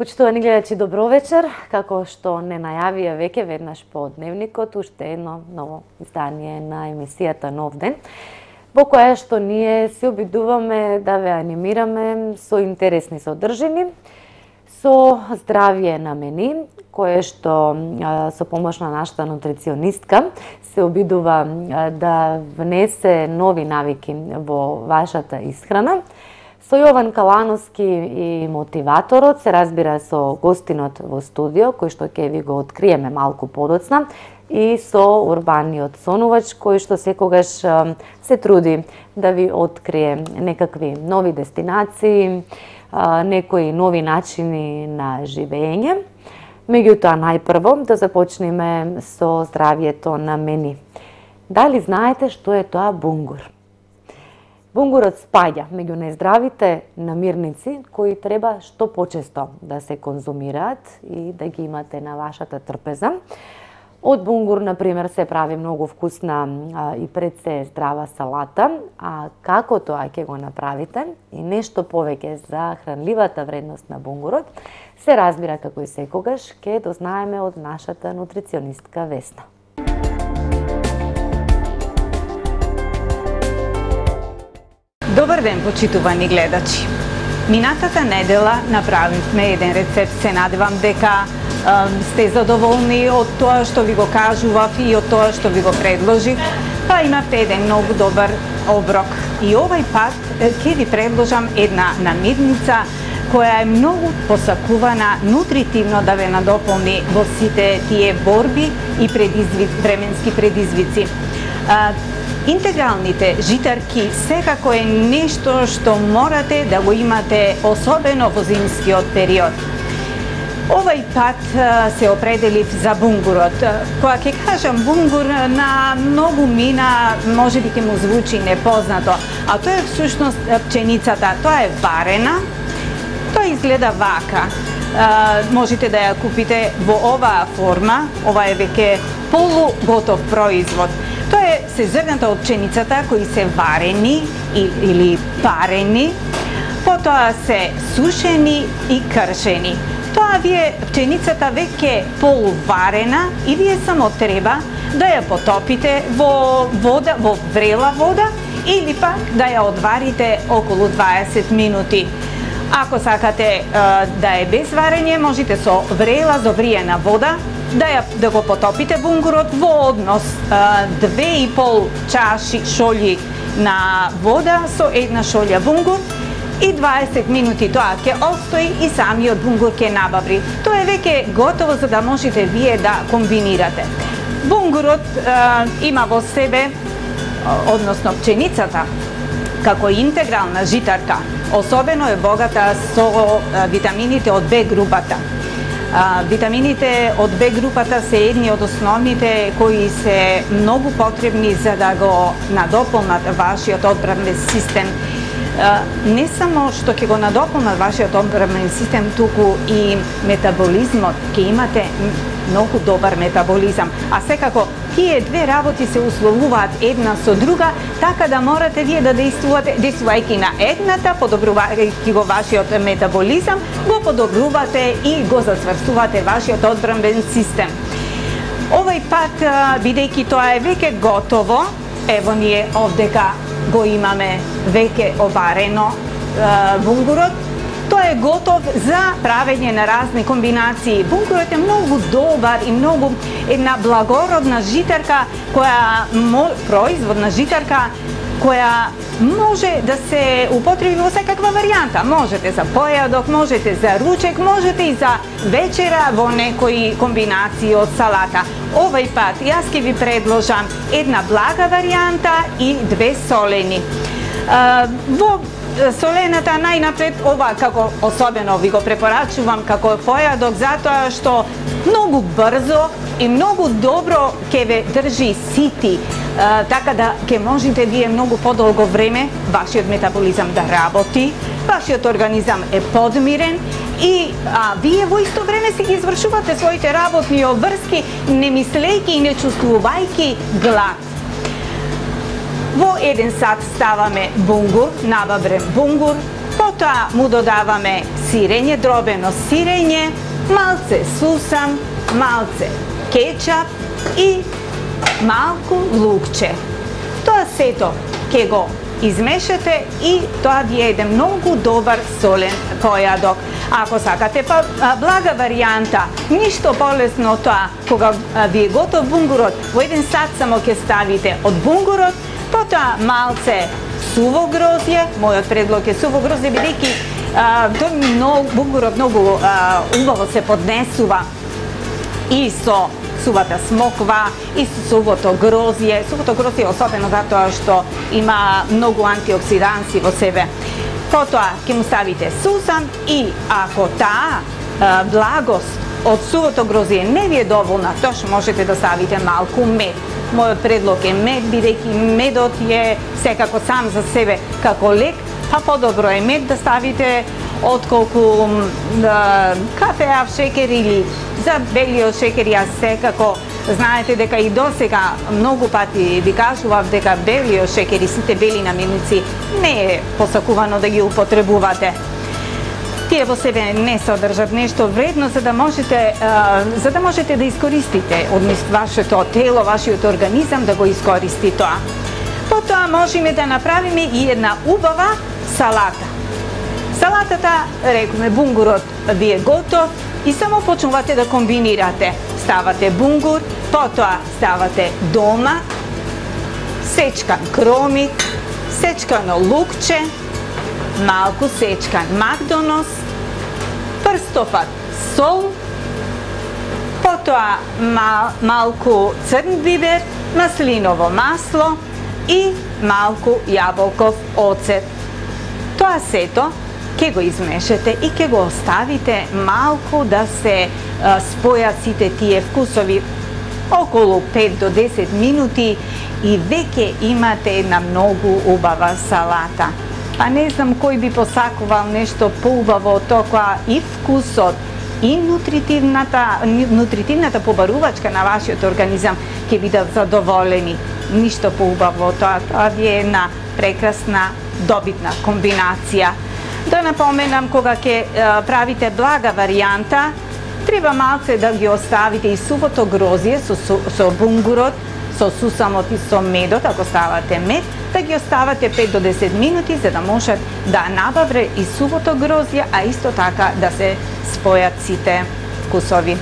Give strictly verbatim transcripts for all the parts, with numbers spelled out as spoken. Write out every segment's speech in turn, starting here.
Почитувани гледачи, добро вечер. Како што не најавија веќе веднаш по дневникот, уште едно ново издание на емисијата Нов ден, во која што ние се обидуваме да ве анимираме со интересни содржини, со здравје на мени, кое што со помош на нашата нутриционистка се обидува да внесе нови навики во вашата исхрана. Со Јован Калановски и мотиваторот, се разбира со гостинот во студио, кој што ќе ви го откриеме малку подоцна, и со урбаниот сонувач, кој што секогаш се труди да ви открие некакви нови дестинации, некои нови начини на живење. Меѓутоа, најпрво да започнеме со здравјето на мени. Дали знаете што е тоа бунгур? Бунгурот спаѓа меѓу нездравите намирници кои треба што почесто да се конзумираат и да ги имате на вашата трпеза. Од бунгур, например, се прави многу вкусна а, и пред се здрава салата, а како тоа ќе го направите и нешто повеќе за хранливата вредност на бунгурот, се разбира како и секогаш ќе дознаеме од нашата нутриционистка Весна. Добар ден, почитувани гледачи. Минатата недела направивме еден рецепт, се надевам дека е, сте задоволни од тоа што ви го кажував и од тоа што ви го предложив. Па имавте еден многу добар оброк. И овај пат ќе ви предложам една намирница која е многу посакувана нутритивно да ве надополни во сите тие борби и предизвик, временски предизвици. Интегралните житарки секако е нешто што морате да го имате, особено во зимскиот период. Овај пат се определив за бунгурот. Кога ќе кажам бунгур, на многу мина може би ќе му звучи непознато, а тоа е всушност пченицата. Тоа е варена, тоа изгледа вака. Можете да ја купите во оваа форма, ова е веќе полуготов производ. Тоа е се зрната од пченицата кои се варени или парени, потоа се сушени и кршени. Тоа вие пченицата веќе полуварена и вие само треба да ја потопите во вода, во врела вода или пак да ја одварите околу дваесет минути. Ако сакате да е без варење, можете со врела завриена вода да ја да го потопите бунгурот во однос две и пол чаши шолји на вода со една шолја бунгур и дваесет минути тоа ќе остои и самиот бунгур ќе набаври. Тоа е веќе готово за да можете вие да комбинирате. Бунгурот е, има во себе, односно пченицата, како интегрална житарка, особено е богата со витамините од Б групата. Витамините од Б групата се едни од основните кои се многу потребни за да го надополнат вашиот одбранен систем. Не само што ќе го надополнат вашиот одбранен систем, туку и метаболизмот, ќе имате многу добар метаболизам. А секако, тие две работи се условуваат една со друга, така да морате вие да действувате, действувајќи на едната, подобрувајќи го вашиот метаболизам, го подобрувате и го зацврстувате вашиот одбранен систем. Овај пат, бидејќи тоа е веќе готово, ево ние овдека го имаме веќе оварено бунгурот, тоа е готов за правење на разни комбинации. Бунгурот е многу добар и многу една благородна житарка, која производна житарка која може да се употреби во секаква варијанта. Можете за појадок, можете за ручек, можете и за вечера во некои комбинации од салата. Овај пат јас ќе ви предложам една блага варијанта и две солени. Во солената најнапред, ова како особено ви го препорачувам како појадок, затоа што многу брзо и многу добро ќе ве држи сити, така да ќе можете вие многу подолго време вашиот метаболизам да работи, вашиот организам е подмирен и а, вие во исто време си ги извршувате своите работни обврски, не мислејќи и не чувствувајќи глад. Во еден сат ставаме бунгур, набаврен бунгур, потоа Потоа му додаваме сирење, дробено сирење, малце сусам, малце кетчап и малку лукче. Тоа сето ќе го измешате и тоа ви е еден многу добар солен појадок. Ако сакате па блага варијанта, ништо полесно тоа, кога ви е готов бунгурот, во еден сат само ќе ставите од бунгурот, потоа малце суво грозје, мојот предлог е суво грозје, бидејќи тој многу бунгурот многу а, убаво се поднесува и со сувата смоква и со сувото грозје. Сувото грозје особено затоа што има многу антиоксиданси во себе. Потоа ќе му ставите сусам и ако таа а, благост од сувото грозје не ви е доволна, тош можете да ставите малку мед. Мојот предлог е мед, бидејќи медот е секако сам за себе како лек, па подобро е мед да ставите отколку да, кафеав шекер или за белиот шекер. Јас секако знаете дека и досега многу пати ви кажував дека белиот шекер и сите бели наменици не е посакувано да ги употребувате. Тие во себе не содржат нешто вредно за да можете за да можете да искористите од вашето тело, вашиот организам да го искористи тоа. Потоа можеме да направиме и една убава салата. Салатата, рекоме, бунгурот ви е готов и само почнувате да комбинирате. Ставате бунгур, потоа ставате домат, сечкан кромик, сечкано лукче, малку сечкан макдонос, прстопат сол, потоа мал, малку црн бибер, маслиново масло и малку јаболков оцет. Тоа сето ќе го измешате и ќе го оставите малку да се а, спојат сите тие вкусови, околу пет до десет минути и веќе имате една многу убава салата. Па не знам кој би посакувал нешто поубаво од тоа, и вкусот, и нутритивната, нутритивната побарувачка на вашиот организам ќе бидат задоволени. Ништо поубаво од тоа, тоа ви е една прекрасна, добитна комбинација. Да напоменам, кога ќе правите блага варијанта, треба малце да ги оставите и сувото грозје со, со бунгурот, со сусамот и со медот, ако ставате мед, да ги оставате пет до десет минути за да можат да набавре и сувото грозје, а исто така да се спојат сите вкусови.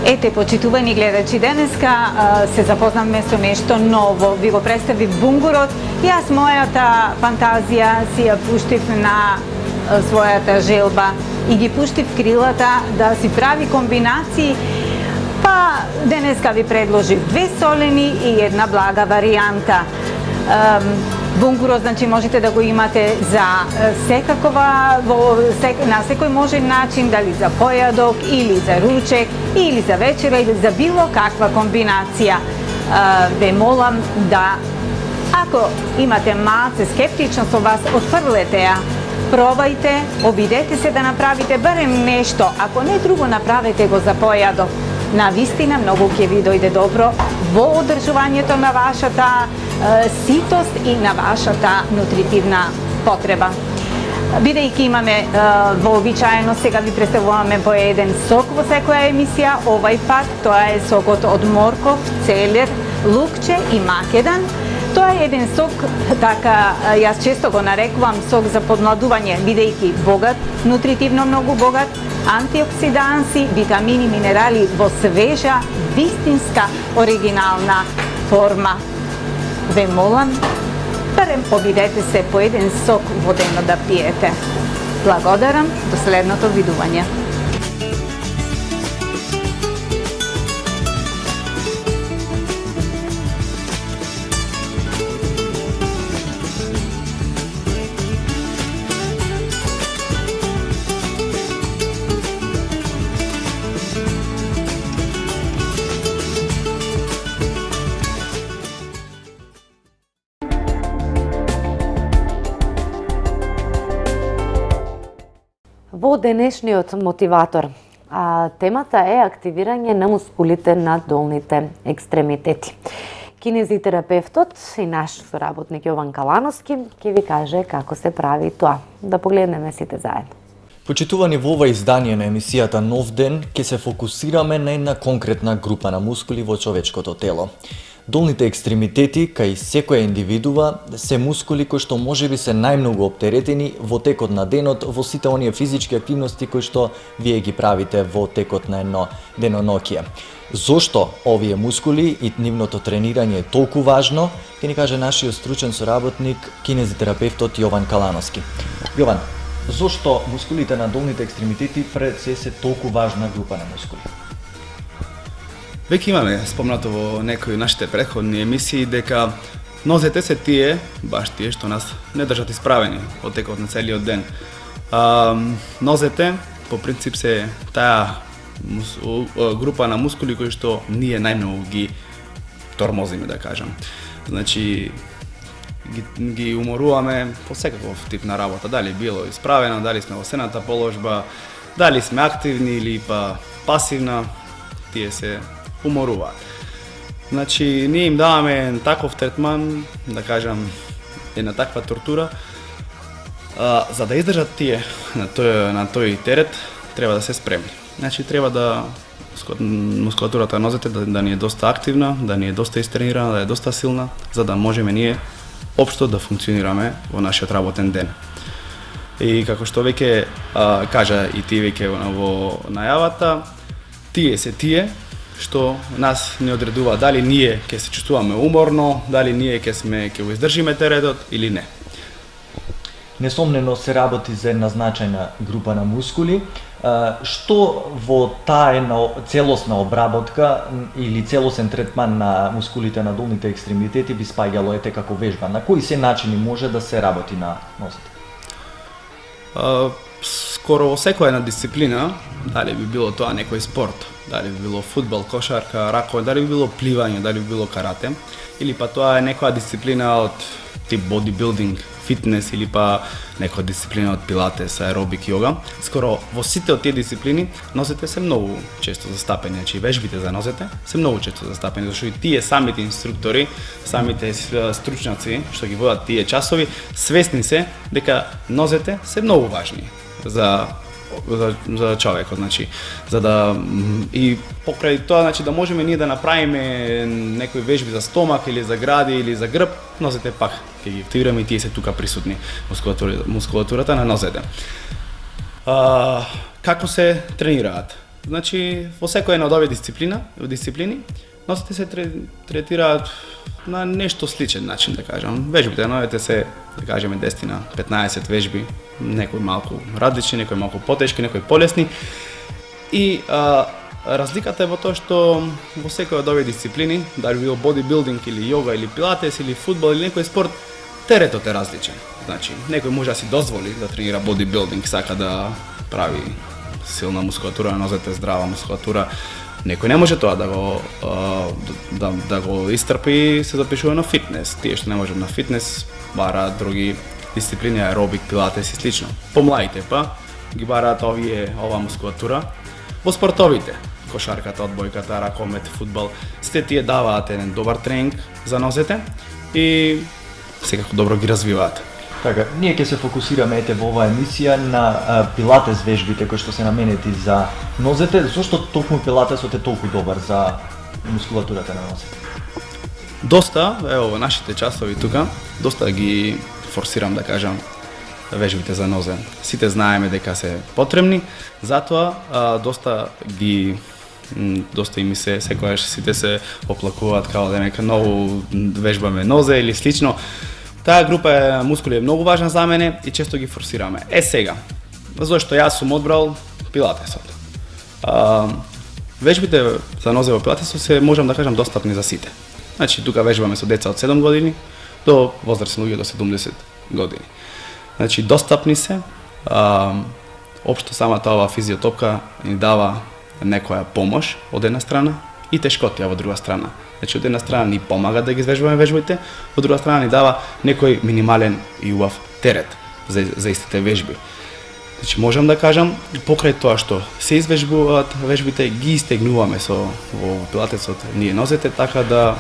Ете, почитувани гледачи, денеска а, се запознавме со нешто ново. Ви го представив бунгурот. Јас мојата фантазија си ја пуштив на а, својата желба и ги пуштив крилата да си прави комбинации. Па денеска ви предложив две солени и една блага варијанта. Бунгурот, значи, можете да го имате за секакова, во, сек, на секој можен начин, дали за појадок, или за ручек, или за вечера, или за било каква комбинација. Ве молам да, ако имате малце скептично со вас, отфрлете ја, пробајте, обидете се да направите барем нешто, ако не друго направете го за појадок. Навистина многу ќе ви дојде добро во одржувањето на вашата е, ситост и на вашата нутритивна потреба. Бидејќи имаме е, вообичаено, сега ви представуваме по еден сок во секоја емисија, овај пат тоа е сокот од морков, целер, лукче и македан. Тоа е еден сок, така јас често го нарекувам сок за подмладување, бидејќи богат, нутритивно многу богат, антиоксиданси, витамини, минерали во свежа, вистинска, оригинална форма. Ве молам, барем обидете се по еден сок водено да пиете. Благодарам, до следното видување. Во денешниот мотиватор, а, темата е активирање на мускулите на долните екстремитети. Кинезитерапевтот и наш соработник Јован Калановски ќе ви каже како се прави тоа. Да погледнеме сите заедно. Почитувани, во ова издание на емисијата Нов ден ќе се фокусираме на една конкретна група на мускули во човечкото тело. Долните екстремитети, кај секоја индивидува, се мускули кои што можеби се најмногу оптеретени во текот на денот во сите оние физички активности кои што вие ги правите во текот на едно деноноќие. Зошто овие мускули и нивното тренирање е толку важно, ќе ни каже нашиот стручен соработник, кинезитерапевтот Јован Калановски. Јован, зошто мускулите на долните екстремитети пред се се толку важна група на мускули? Веќе имаме спомнато во некои нашите претходни емисии дека нозете се тие, баш тие што нас не држат исправени во текот на целиот ден. А, нозете по принцип се таа група на мускули кои што ние најмногу ги тормозиме, да кажам. Значи ги, ги уморуваме по секаков тип на работа, дали било исправено, дали сме во сената положба, дали сме активни или па пасивна, тие се уморуваат. Значи, ние им даваме таков третман, да кажам, една таква тортура, а, за да издржат тие на тој, на тој терет, треба да се спремни. Значи, треба да мускулатурата на нозете да, да ни е доста активна, да ни е доста истренирана, да е доста силна, за да можеме ние општо да функционираме во нашиот работен ден. И како што веќе а, кажа и ти веќе во најавата, тие се тие што нас не одредува дали ние ќе се чувствуваме уморно, дали ние ќе сме ќе го издржиме теретот или не. Несомнено се работи за една значајна група на мускули. Што во таа една целосна обработка или целосен третман на мускулите на долните екстремитети би спаѓало ете како вежба? На кои се начини може да се работи на нозете? Uh, скоро во секоја една дисциплина, дали би било тоа некој спорт, дали би било фудбал, кошарка, ракови, дали би било пливање, дали би било карате, или па тоа е некоја дисциплина од тип бодибилдинг, фитнес или па некоја дисциплина од пилатес, аеробик, йога. Скоро во сите од тие дисциплини нозете се многу често застапени, значи вежбите за нозете се многу често застапени, зашто и тие самите инструктори, самите стручњаци што ги водат тие часови, свесни се дека нозете се многу важни за за, за човекот, значи за да и покрај тоа, значи да можеме ние да направиме некои вежби за стомак или за гради или за грб, нозете пак ќе ги активираме и тие се тука присутни, мускулатура, мускулатурата на нозете. А, како се тренираат? Значи, во секоја една од овие дисциплина, дисциплини, нозете се третираат на нешто сличен начин, да кажам. Вежбите на нозете се, да кажеме, десет на петнаесет вежби, некои малку различни, некои малку потешки, некои полесни. И а, разликата е во тоа што во секој од овие дисциплини, дали било бодибилдинг или јога или пилатес или фудбал или некој спорт, теретот е различен. Значи, некој може да си дозволи да тренира бодибилдинг, сака да прави силна мускулатура на нозете, здрава мускулатура. Некој не може тоа да го да, да го истрпи и се запишува на фитнес. Тие што не можат на фитнес бараат други дисциплини, аеробик, пилатес и слично. Помладите па ги бараат овие ова мускулатура во спортовите. Кошарката, одбојката, ракомет, фудбал, сите тие даваат еден добар тренинг за нозете и секако добро ги развиваат. Така, ние ќе се фокусираме ете во оваа емисија на а, пилатес вежбите кои што се наменети за нозете. Зошто токму пилатесот е толку добар за мускулатурата на нозете? Доста, ево во нашите часови тука, доста ги форсирам да кажам вежбите за нозе. Сите знаеме дека се потребни, затоа а, доста ги доста и ми се секогаш сите се оплакуваат као дека многу вежбаме нозе или слично. Таа група е мускули е многу важна за мене и често ги форсираме. Е сега, зашто јас сум одбрал пилатесот. А, вежбите за нозе во пилатесот се можам да кажам достапни за сите. Значи тука вежбаме со деца од седум години до возрастни луѓе до седумдесет години. Значи достапни се. А, општо самата ова физиотопка ни дава некоја помош од една страна и тешкотија во друга страна. Значи од една страна ни помага да ги извежбаме вежбите, од друга страна ни дава некој минимален и убав терет за, за истите вежби. Значи можам да кажам, покрај тоа што се извежбуваат вежбите, ги истегнуваме со во пилатесот ние нозете, така да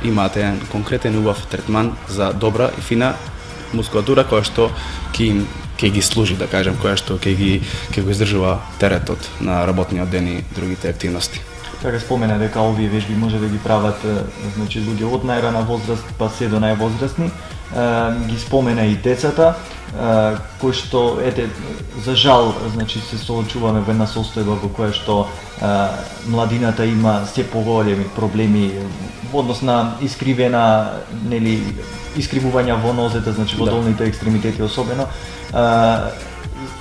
имате еден конкретен убав третман за добра и фина мускулатура која што ќе им ќе ги служи, да кажам, која што ќе ги ќе го издржува теретот на работниот ден и другите активности. Така спомена дека овие вежби може да ги прават значи луѓе од најрана возраст па се до највозрастни. Ги спомена и децата, кои што ете за жал значи се соочуваме во една состојба во која што а, младината има се поголеми проблеми во однос на искривена нели искривувања во нозете, значи во да. долните екстремитети особено. А,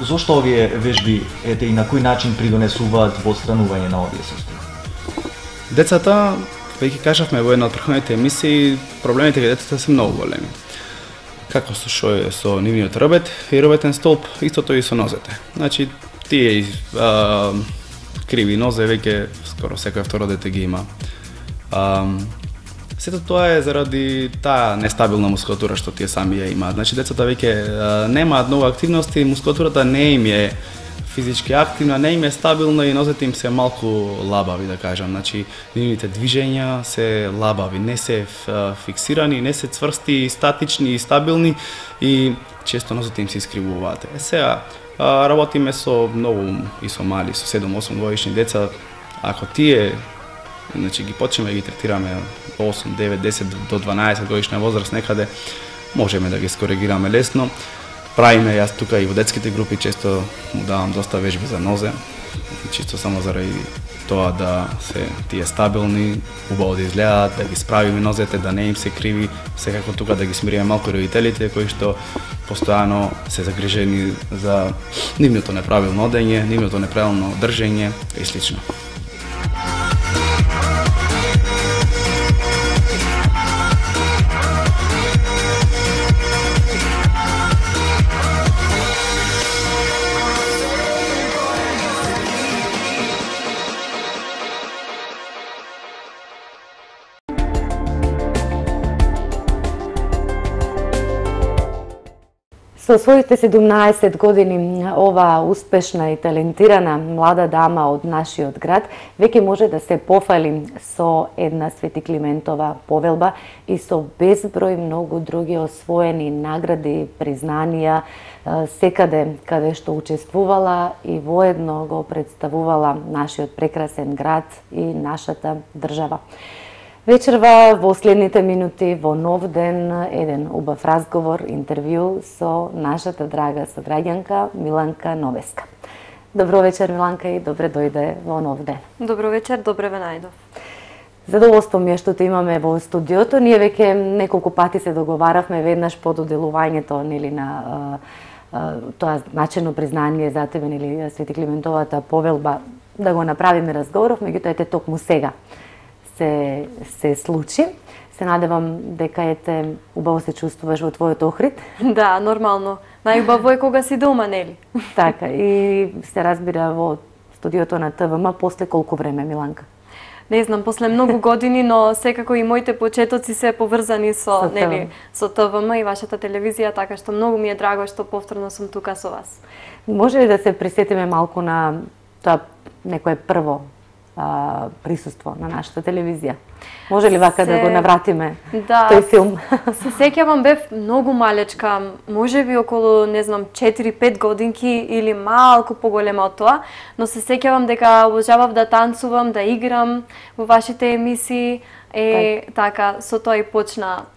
зошто овие вежби ете и на кој начин придонесуваат во отстранување на овие состојби? Децата, веќе кажавме во една од претходните емисии, проблемите кај децата се многу големи. Како со шо е со нивниот рбет и рбетен столб, истото и со нозете. Значи, тие а, криви нозе веќе скоро секој второ дете ги има. А, сето тоа е заради таа нестабилна мускулатура што тие сами ја имаат. Значи, децата веќе немаат многу активности, мускулатурата не им е физички активна, не им е стабилна и нозете им се малку лабави, да кажам. Значи, нивните движења се лабави, не се фиксирани, не се цврсти, статични и стабилни и често нозете им се искривуваат. Е сега, работиме со многу и со мали, со седум-осум годишни деца. Ако тие значи ги почнеме ги третираме осум, девет, десет до дванаесет годишна возраст некаде, можеме да ги скоригираме лесно. Правиме јас тука и во детските групи често му давам доста вежби за нозе, чисто само заради тоа да се тие стабилни, убаво да изгледаат, да ги справиме нозете, да не им се криви, секако тука да ги смириме малку родителите кои што постојано се загрижени за нивното неправилно одење, нивното неправилно држење и слично. Со своите седумнаесет години оваа успешна и талентирана млада дама од нашиот град веќе може да се пофали со една Свети Климентова повелба и со безброј многу други освоени награди, признанија секаде каде што учествувала и воедно го представувала нашиот прекрасен град и нашата држава. Вечерва во следните минути во Нов ден еден убав разговор, интервју со нашата драга сограѓанка Миланка Новеска. Добро вечер, Миланка, и добре дојде во нов ден. Добро вечер, добре ве најдов. Задоволство ми е што те имаме во студиото. Ние веќе неколку пати се договаравме веднаш по доделувањето, нели, на а, а, тоа значено признание за тебе, нели, Свети Климентовата повелба, да го направиме разговоров, меѓутоа ете токму сега се се случи. Се надевам дека ете убаво се чувствуваш во твојот охрид. Да, нормално. Најубаво е кога си дома, нели? Така, и се разбира во студиото на ТВМ после колку време, Миланка? Не знам, после многу години, но секако и моите почетоци се поврзани со, Со нели, со ТВМ и вашата телевизија, така што многу ми е драго што повторно сум тука со вас. Може ли да се присетиме малку на тоа некое прво а, присуство на нашата телевизија? Може ли вака се... да го навратиме да, тој филм? Се сеќавам, бев многу малечка, можеби околу, не знам, четири-пет годинки или малку поголема од тоа, но се сеќавам дека обожавав да танцувам, да играм во вашите емисии, е так. Така, со тоа и почна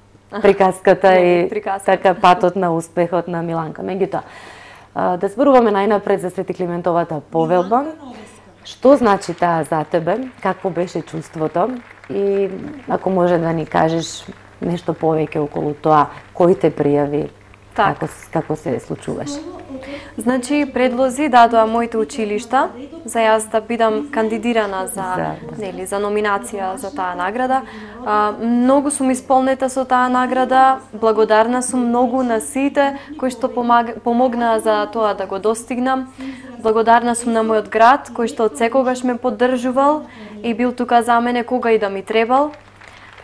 приказката и приказката. Така патот на успехот на Миланка. Меѓутоа, да зборуваме најнапред за Свети Климентовата повелба. Што значи таа за тебе? Какво беше чувството? И ако може да ни кажеш нешто повеќе околу тоа, кој те пријави, так. како, како се случуваше? Значи, предлози дадоа моите училишта за јас да бидам кандидирана за, за, да. нели, за номинација за таа награда. А, многу сум исполнета со таа награда, благодарна сум многу на сите кои што помаг, помогнаа за тоа да го достигнам. Благодарна сум на мојот град, кој што од секогаш ме поддржувал и бил тука за мене кога и да ми требал.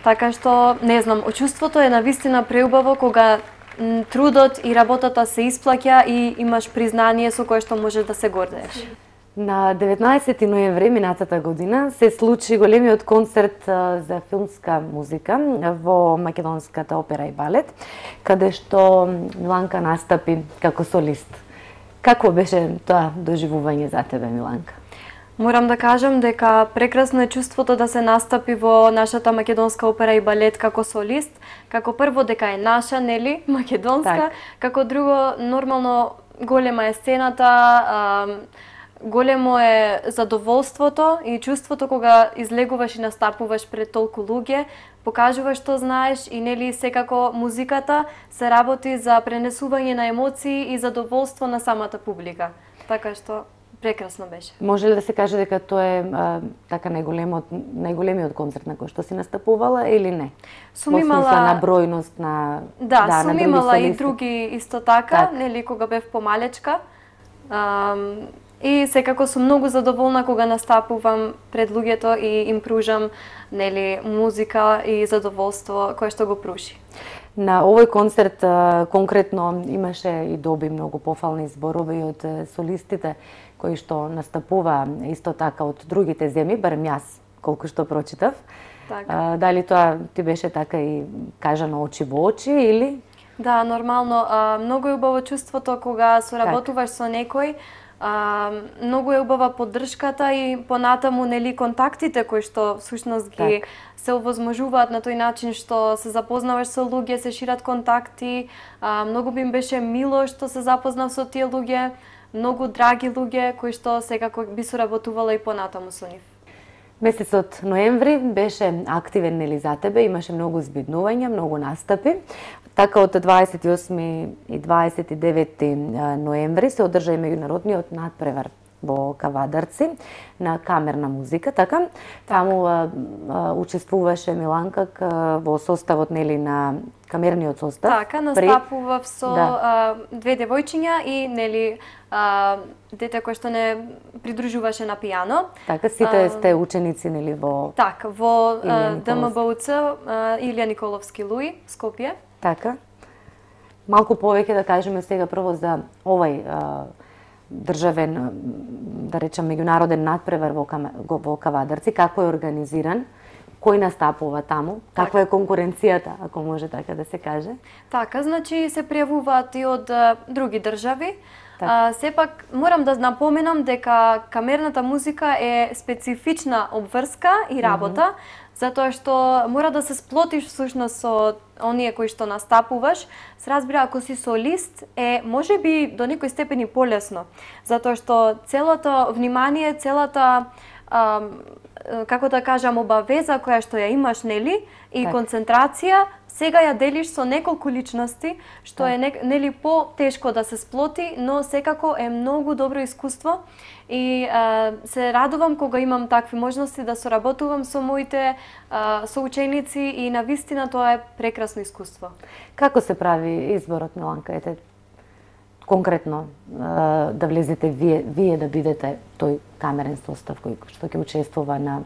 Така што, не знам, чувството е навистина преубаво кога трудот и работата се исплаќа и имаш признание со кое што можеш да се гордееш. На деветнаесети ноември минатата година се случи големиот концерт за филмска музика во Македонската опера и балет, каде што Миланка настапи како солист. Како беше тоа доживување за тебе, Миланка? Морам да кажам дека прекрасно е чувството да се настапи во нашата Македонска опера и балет како солист, како прво дека е наша, нели, македонска, так. Како друго, нормално голема е сцената, а, големо е задоволството и чувството кога излегуваш и настапуваш пред толку луѓе, покажуваш што знаеш и нели секако музиката се работи за пренесување на емоции и задоволство на самата публика. Така што прекрасно беше. Може ли да се каже дека тоа е а, така најголемиот најголемиот концерт на кој што си настапувала или не? Сум имала на бројност на Да, да сум на имала солисти. и други исто така, так. Нели кога бев помалечка. Ам, и секако сум многу задоволна кога настапувам пред луѓето и им пружам, нели, музика и задоволство кое што го пруши. На овој концерт конкретно имаше и доби многу пофални зборови од солистите кои што настапува исто така од другите земји, барем јас колку што прочитав. Така. Дали тоа ти беше така и кажано очи во очи или? Да, нормално. А, многу е убаво чувството кога соработуваш со некој. А, многу е убава поддршката и понатаму, нели, контактите кои што всушност ги так. Се овозможуваат на тој начин што се запознаваш со луѓе, се шират контакти. А, многу би им беше мило што се запознав со тие луѓе, многу драги луѓе кои што секако би соработувала и понатаму со нив. Месецот ноември беше активен, нели, за тебе, имаше многу збиднувања, многу настапи. Така од дваесет и осми и дваесет и девети ноември се одржа и меѓународниот надпревар во Кавадарци на камерна музика, така. Таму а, а, учествуваше Миланка во составот, нели, на камерниот состав. Така, настапував при... со да. а, две девојчиња и, нели, а, дете кој што не придружуваше на пијано. Така, сите а, сте ученици, нели, во Така, во ДМБУЦ Илија Николовски Луи, Скопје. Така. Малку повеќе да кажеме сега прво за овај а, државен, да речем, меѓународен надпревар во, во Кавадарци, како е организиран, кој настапува таму? Каква е конкуренцијата, ако може така да се каже? Така, значи се пријавуваат и од а, други држави. А, сепак морам да напоменам дека камерната музика е специфична обврска и работа, mm -hmm. затоа што мора да се сплотиш всушност со оние кои што настапуваш. Се разбира, ако си солист, е можеби до некој степен и полесно, затоа што целото внимание, целата а, како да кажам, обавеза која што ја имаш, нели, и так. концентрација, сега ја делиш со неколку личности, што так. е нели по-тешко да се сплоти, но секако е многу добро искуство и а, се радувам кога имам такви можности да соработувам со моите а, соученици и навистина тоа е прекрасно искуство. Како се прави изборот, Миланка? Ете, конкретно а, да влезете вие, вие да бидете тој камерен состав кој што ќе учествува на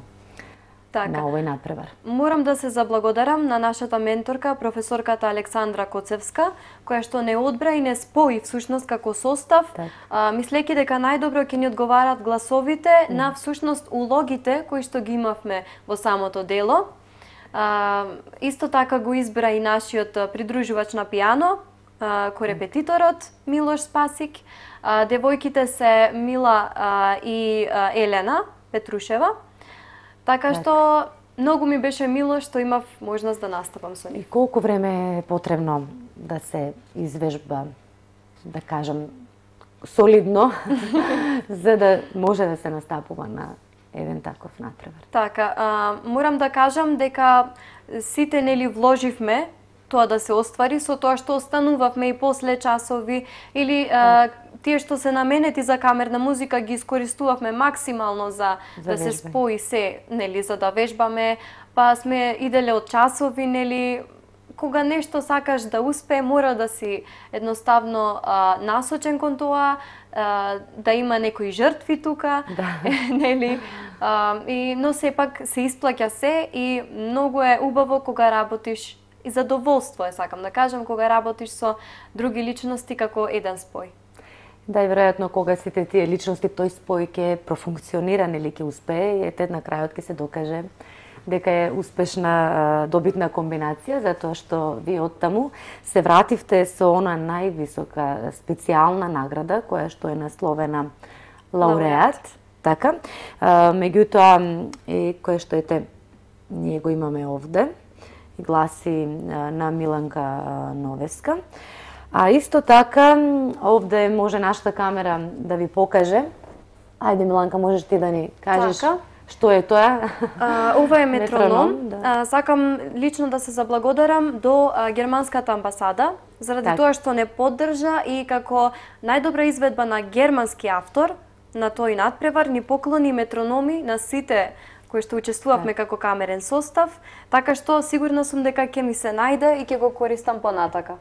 така. на овој надпревар. Морам да се заблагодарам на нашата менторка, професорката Александра Коцевска, која што не одбра и не спои всушност како состав, так. а, мислејќи дека најдобро ќе ни одговарат гласовите mm. на всушност улогите кои што ги имавме во самото дело. А, исто така го избра и нашиот придружувач на пијано, корепетиторот Милош Спасик, а, девојките се Мила а, и а, Елена Петрушева. Така што многу ми беше мило што имав можност да настапам со нив. И колку време е потребно да се извежба, да кажам, солидно, за да може да се настапува на еден таков надпревар? Така, а, морам да кажам дека сите нели вложивме тоа да се оствари со тоа што останувавме и после часови или а, тие што се наменети за камерна музика ги искористувавме максимално за, за да се спои се, нели, за да вежбаме, па сме иделе од часови, нели, кога нешто сакаш да успее, мора да си едноставно а, насочен кон тоа, а, да има некои жртви тука, да. нели, а, и, но сепак се исплаќа се и многу е убаво кога работиш и задоволство е, сакам да кажам, кога работиш со други личности како еден спој. Да, и веројатно кога сите тие личности тој спој ќе профункционира, нели ќе успее, и ете на крајот ќе се докаже дека е успешна, добитна комбинација, затоа што вие оттаму се вративте со она највисока специјална награда која што е насловена лауреат, така. Меѓутоа и која што ете ние го имаме овде, и гласи на Миланка Новеска. А исто така, овде може нашата камера да ви покаже. Ајде, Миланка, можеш ти да ни кажеш така. Што е тоа? А, ова е метроном. метроном да. а, сакам лично да се заблагодарам до а, германската амбасада, заради так. тоа што не поддржа и како најдобра изведба на германски автор на тој надпревар ни поклони метрономи на сите кои што учествувавме како камерен состав, така што сигурна сум дека ќе ми се најде и ќе го користам понатака.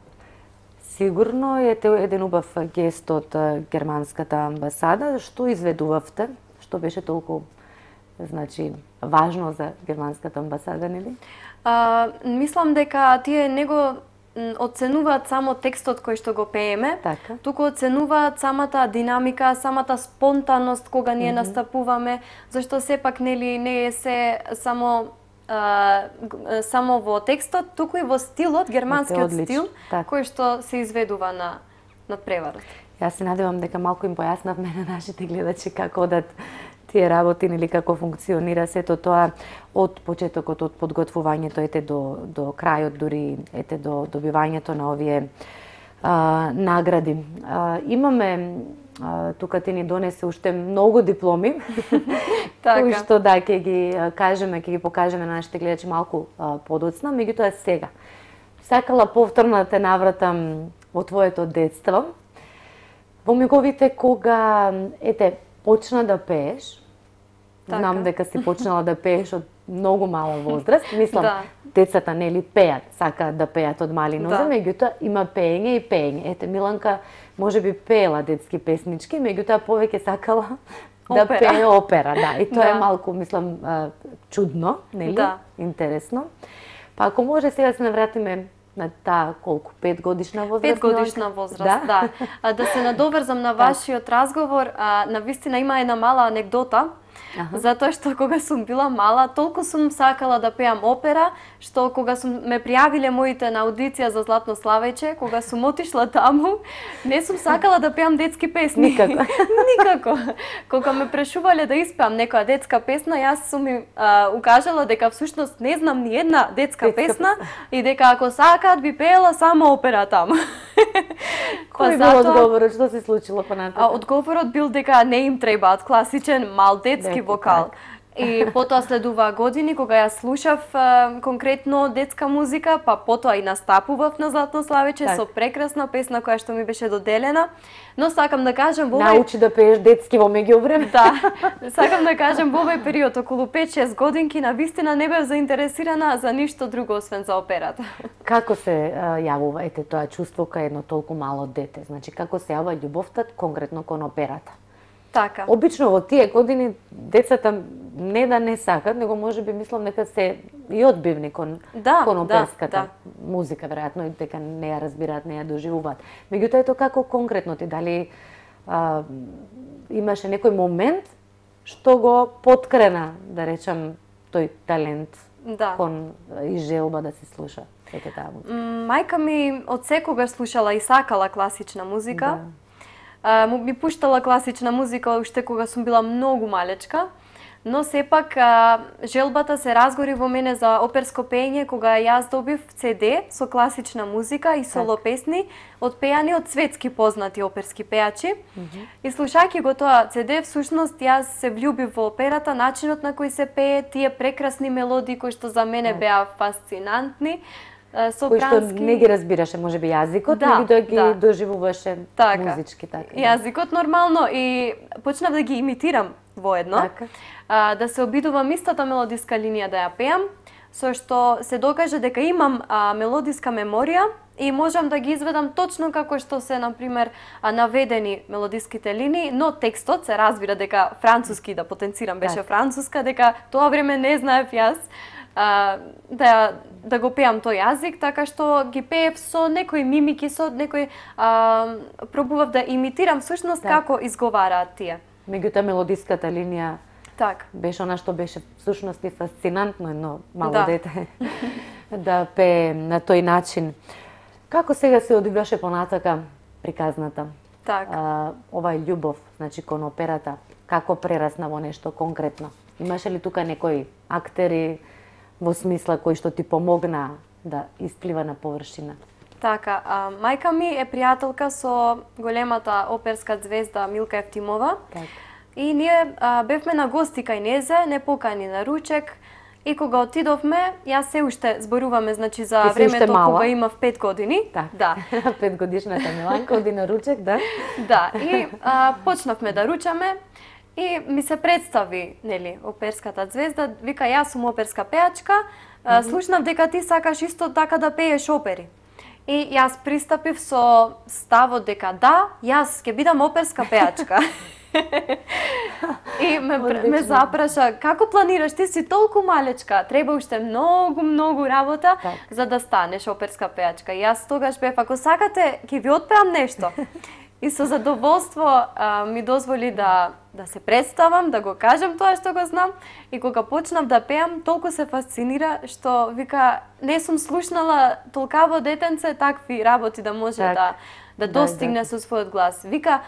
Сигурно е еден убав гест од германската амбасада. Што изведувавте? Што беше толку, значи, важно за германската амбасада, нели? А, мислам дека тие не го оценуваат само текстот кој што го пееме, така. туку оценуваат самата динамика, самата спонтанност кога ние mm -hmm. настапуваме, зашто сепак нели не е се само а, само во текстот, туку и во стилот, германскиот стил, така. кој што се изведува на надпреварот. Јас се надевам дека малку им појаснавме на нашите гледачи како одат тие работи, или како функционира сето тоа од почетокот, од подготвувањето ете до до крајот, дури ете до добивањето на овие а, награди. А, имаме а, тука ти ни донесе уште многу дипломи, така. кои што да ќе ги кажеме, ќе ги покажеме на нашите гледачи малку а, подоцна, меѓутоа сега сакала повторно да те навратам во твоето детство, во миговите кога ете почна да пееш. Така. Знам дека си почнала да пееш од многу мала возраст. Мислам, да. децата нели пеат, сакаат да пеат од мали нозе, да. меѓутоа има пеење и пеење. Ете, Миланка можеби пеела детски песнички, меѓутоа повеќе сакала да опера. пее опера, да. И тоа да. е малку, мислам, чудно, нели? Да. Интересно. Па ако може сега се навратиме на таа колку пет годишна возраст. пет годишна возраст, да. да. А, да се надоврзам на вашиот разговор, а, навистина има една мала анегдота. Аха. Затоа што кога сум била мала, толку сум сакала да пеам опера, што кога сум ме пријавиле моите на аудиција за Златно славеќе, кога сум отишла таму, не сум сакала да пеам детски песни. Никако. Никако. Кога ме прашувале да испеам некоја детска песна, јас сум им а, укажала дека всушност не знам ни една детска, детска песна, песна и дека ако сакаат би пеела само опера таму. Кој бил одговорот? Што се случило понатаму? Одговорот бил дека не им требаат класичен мал детски вокал. Так. И потоа следува години кога ја слушав а, конкретно детска музика, па потоа и настапував на Златно славеќе так. Со прекрасна песна која што ми беше доделена. Но сакам да кажам во овој... Научи да пееш детски во меѓувреме. Да. Сакам да кажам во овој период околу пет-шест годинки на вистина не бев заинтересирана за ништо друго освен за операта. Како се а, јавува ете тоа чувство кај едно толку мало дете? Значи како се јавува љубовта конкретно кон операта? Така. Обично во тие години децата не да не сакат, него можеби мислам дека се и одбивни кон, да, кон оперската да, да. музика, веројатно и дека не ја разбираат, не ја доживуваат. Меѓутоа ето како конкретно ти дали а, имаше некој момент што го поткрена, да речам, тој талент да. Кон и желба да се слуша сека таа музика? Мајка ми од секогаш слушала и сакала класична музика. Да. Uh, ми пуштала класична музика уште кога сум била многу малечка, но сепак uh, желбата се разгори во мене за оперско пеење кога јас добив Це Де со класична музика и соло так. Песни одпеани од светски познати оперски пеачи. Mm -hmm. И слушајќи го тоа Це Де, всушност јас се влюбив во операта, начинот на кој се пее, тие прекрасни мелодии кои што за мене беа фасцинантни. Кој што не ги разбираше можеби јазикот, да, меѓутоа ги да. Доживуваше така. Музички така. Да. Јазикот нормално и почнав да ги имитирам воедно. Така. А, да се обидувам истата мелодиска линија да ја пеам, со што се докаже дека имам а, мелодиска меморија и можам да ги изведам точно како што се, например, наведени мелодиските линии, но текстот се разбира дека француски, да потенцирам, беше так. Француска, дека тоа време не знаев јас а, да да го пеам тој јазик, така што ги пеев со некои мимики, со некој а, пробував да имитирам всушност так. Како изговараат тие. Меѓутоа мелодиската линија так. Беше она што беше всушност и фасцинантно едно мало да. Дете да пее на тој начин. Како сега се одиграше понатака приказната? Так. А, овај љубов, значи кон операта, како прерасна во нешто конкретно? Имаше ли тука некои актери во смисла кој што ти помогна да исплива на површина? Така, а, мајка ми е пријателка со големата оперска звезда Милка Евтимова. Так. И ние а, бевме на гости кај незе, не покани на ручек. И кога отидовме, јас се уште зборуваме, значи за Ти времето кога имав пет години. Так. Да. пет годишната Миланка оди на ручек, да? Да, и а, почнавме да ручаме. И ми се представи, нели, оперската звезда, вика јас сум оперска пеачка, mm -hmm. слушнав дека ти сакаш исто така да пееш опери. И јас пристапив со ставот дека да, јас ќе бидам оперска пеачка. И ме, ме запраша, како планираш, ти си толку малечка, треба уште многу, многу работа так. За да станеш оперска пеачка. И јас тогаш бев, ако сакате, ќе ви отпеам нешто. И со задоволство а, ми дозволи да, да се представам, да го кажам тоа што го знам. И кога почнав да пеам, толку се фасцинира, што вика, не сум слушнала толкаво детенце такви работи да може так. да, да достигне да, да. Со својот глас. Вика,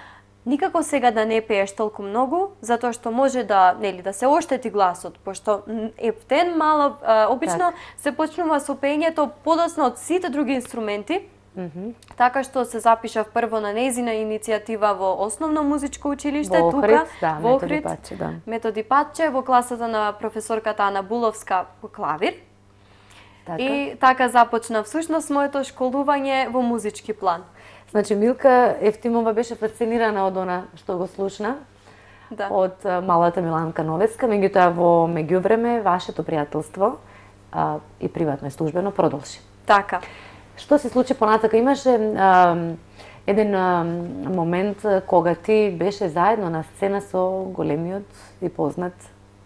никако сега да не пееш толку многу, затоа што може да, нели, да се оштети гласот, пошто ептен мало, а, обично так. Се почнува со пеењето подоцна од сите други инструменти. Mm -hmm. Така што се запишав прво на нејзина иницијатива во основно музичко училиште, во тука, Охрид, да, во Охрид, Методи Патче, да. Методи Патче, во класата на професорката Ана Буловска по клавир. Така. И така започна всушност моето школување во музички план. Значи Милка Евтимова беше фасцинирана од она што го слушна, да. Од малата Миланка Новеска, меѓутоа во меѓувреме вашето пријателство а, и приватно и службено продолжи. Така. Што се случи понатака? Имаше а, еден а, момент кога ти беше заедно на сцена со големиот и познат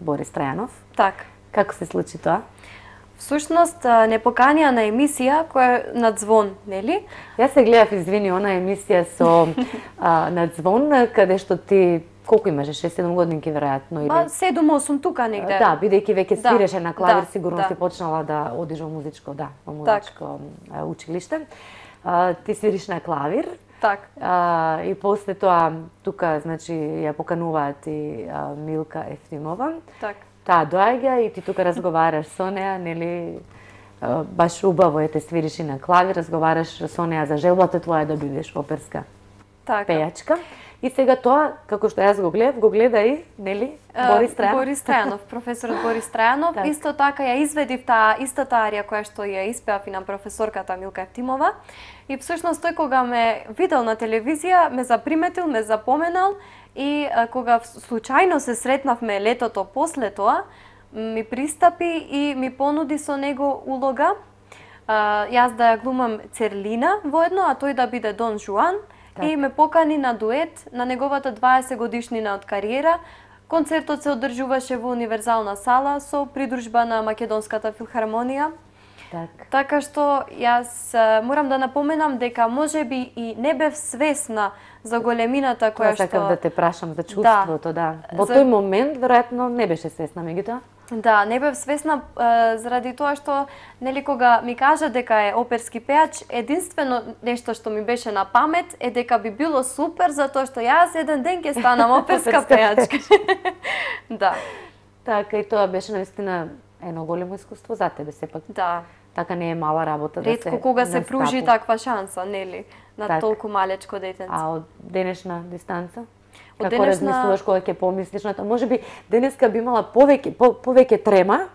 Борис Трајанов. Така. Како се случи тоа? Всушност, не поканија на емисија која на Звон, нели? Јас се гледав, извини, она емисија со а, на Звон, каде што ти колку имаше, шест-седум годинки веројатно или Па седум-осум тука негде. Да, бидејќи веќе Да, свиреше на клавир, да, сигурно да. си почнала да одиш во музичко, да, во музичко а, училиште. А, ти свириш на клавир. Так. А, и после тоа тука значи ја покануваат и а, Милка Ефтимова. Так. Таа доаѓа и ти тука разговараш со неа, нели а, баш убаво е те свириш и на клавир, разговараш со неа за желбата твоја да бидеш оперска Така. пејачка. И сега тоа, како што јас го гледав, го гледа и, нели, Борис Трајанов. Борис Трајанов, професорот Борис Трајанов. Так. Исто така ја изведив таа истата арија која што ја испеав и на професорката Милка Ефтимова. И всушност тој кога ме видел на телевизија, ме заприметил, ме запоменал и а, кога случајно се сретнавме летото после тоа, ми пристапи и ми понуди со него улога. А, јас да ја глумам Церлина воедно, а тој да биде Дон Жуан. Така. И ме покани на дует на неговата дваесет годишнина од кариера. Концертот се одржуваше во Универзална сала со придружба на Македонската филхармонија. Так. Така што јас а, морам да напоменам дека можеби и не бев свесна за големината Тоа која што... сакав да те прашам за чувството, да. Во За- тој момент, веројатно, не беше свесна, меѓутоа. Да, не бев свесна а, заради тоа што нели кога ми кажа дека е оперски пејач, единствено нешто што ми беше на памет е дека би било супер затоа што јас еден ден ќе станам оперска Оперска пејачка. Да, Така, и тоа беше наистина едно големо искуство за тебе, сепак. да. Така не е мала работа да се Ретко кога се настапува. пружи таква шанса, нели, на Так. толку малечко детенце. А од денешна дистанца? Од Како денешна- размислуваш кога ќе помислиш на тоа? Можеби денеска би имала повеќе по, повеќе трема,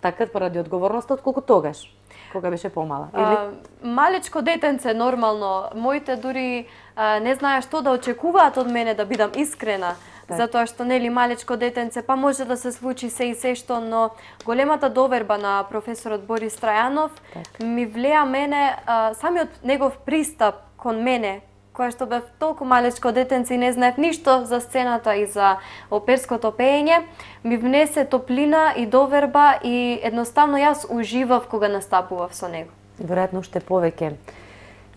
така поради одговорноста отколку тогаш, кога беше помала. Или А, малечко детенце нормално, моите дури а, не знаеа што да очекуваат од мене, да бидам искрена. Так. Затоа што нели малечко детенце, па може да се случи се и се што, но големата доверба на професорот Борис Трајанов Так. ми влеа мене, а, самиот негов пристап кон мене, која што бев толку малечко детенце и не знаев ништо за сцената и за оперското пеење, ми внесе топлина и доверба и едноставно јас уживав кога настапував со него. веројатно уште повеќе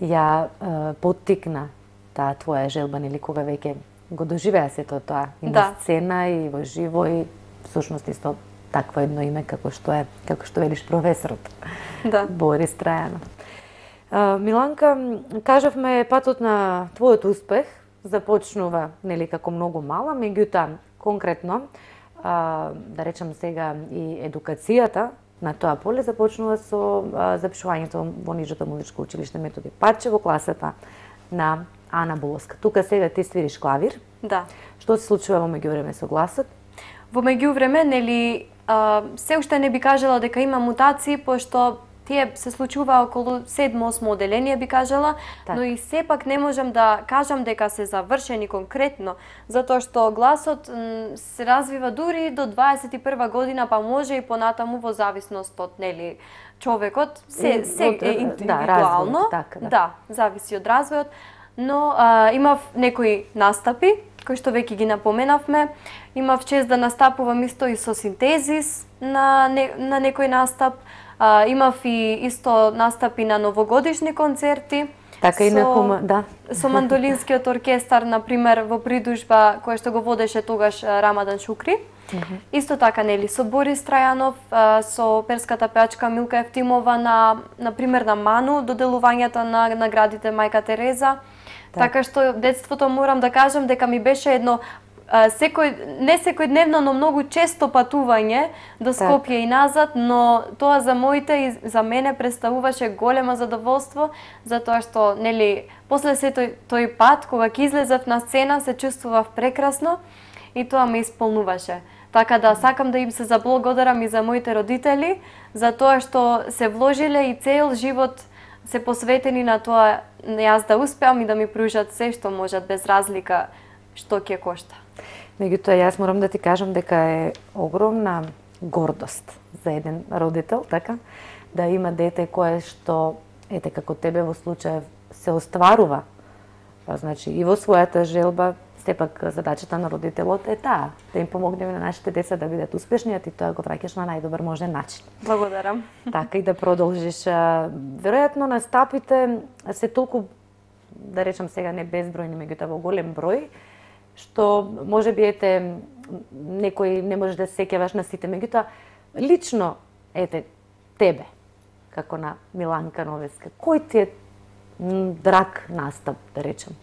ја е, поттикна таа твоја желба, нели кога веќе го доживеа сето тоа и Да. на сцена и во живо и всушност исто такво едно име како што е, како што велиш професорот Да. Борис Трајанов. А, Миланка, кажавме патот на твојот успех започнува нели како многу мала, меѓутоа конкретно а, да речам сега и едукацијата на тоа поле започнува со а, запишувањето во нижото музичко училиште Методи Паче во класата на Ана Буловска. Тука сега ти свириш клавир. Да. Што се случува во меѓувреме со гласот? Во меѓувреме, нели, а, се уште не би кажала дека има мутации, пошто тие се случува околу седмо-осмо оделение, би кажала, Так. но и сепак не можам да кажам дека се завршени конкретно, затоа што гласот м, се развива дури до дваесет и прва година, па може и понатаму во зависност од, нели, човекот, се, И се од, е да, индивидуално, развојот, така, да. да, зависи од развојот, но а, имав некои настапи, кои што веќе ги напоменавме. Имав чест да настапувам исто и со синтезис на, не, на некој настап. А, имав и исто настапи на новогодишни концерти. Така и на со- хума, да. Со мандолинскиот оркестар, например, во придружба која што го водеше тогаш а, Рамадан Шукри. Исто така, нели, со Борис Трајанов, а, со оперската пеачка Милка Ефтимова на, например, на Ману, доделувањето на наградите Мајка Тереза. Така што детството морам да кажам дека ми беше едно а, секој, не секојдневно, но многу често патување до Скопје и назад, но тоа за моите и за мене представуваше големо задоволство, затоа што, нели, после се тој, тој пат, кога ќе излезав на сцена, се чувствував прекрасно и тоа ме исполнуваше. Така да сакам да им се заблагодарам и за моите родители, за тоа што се вложиле и цел живот се посветени на тоа јас да успеам и да ми пружат се што можат без разлика што ќе кошта. Меѓутоа, јас морам да ти кажам дека е огромна гордост за еден родител, така, да има дете кое што, ете како тебе во случај, се остварува, па, значи, и во својата желба, сепак задачата на родителот е таа, да им помогнеме на нашите деца да бидат успешни, а ти тоа го враќаш на најдобар можен начин. Благодарам. Така и да продолжиш. А, веројатно настапите се толку, да речам сега не безбројни, меѓутоа во голем број, што може би ете некој не можеш да се сеќаваш на сите, меѓутоа лично ете тебе како на Миланка Новеска, кој ти е драг настап, да речем?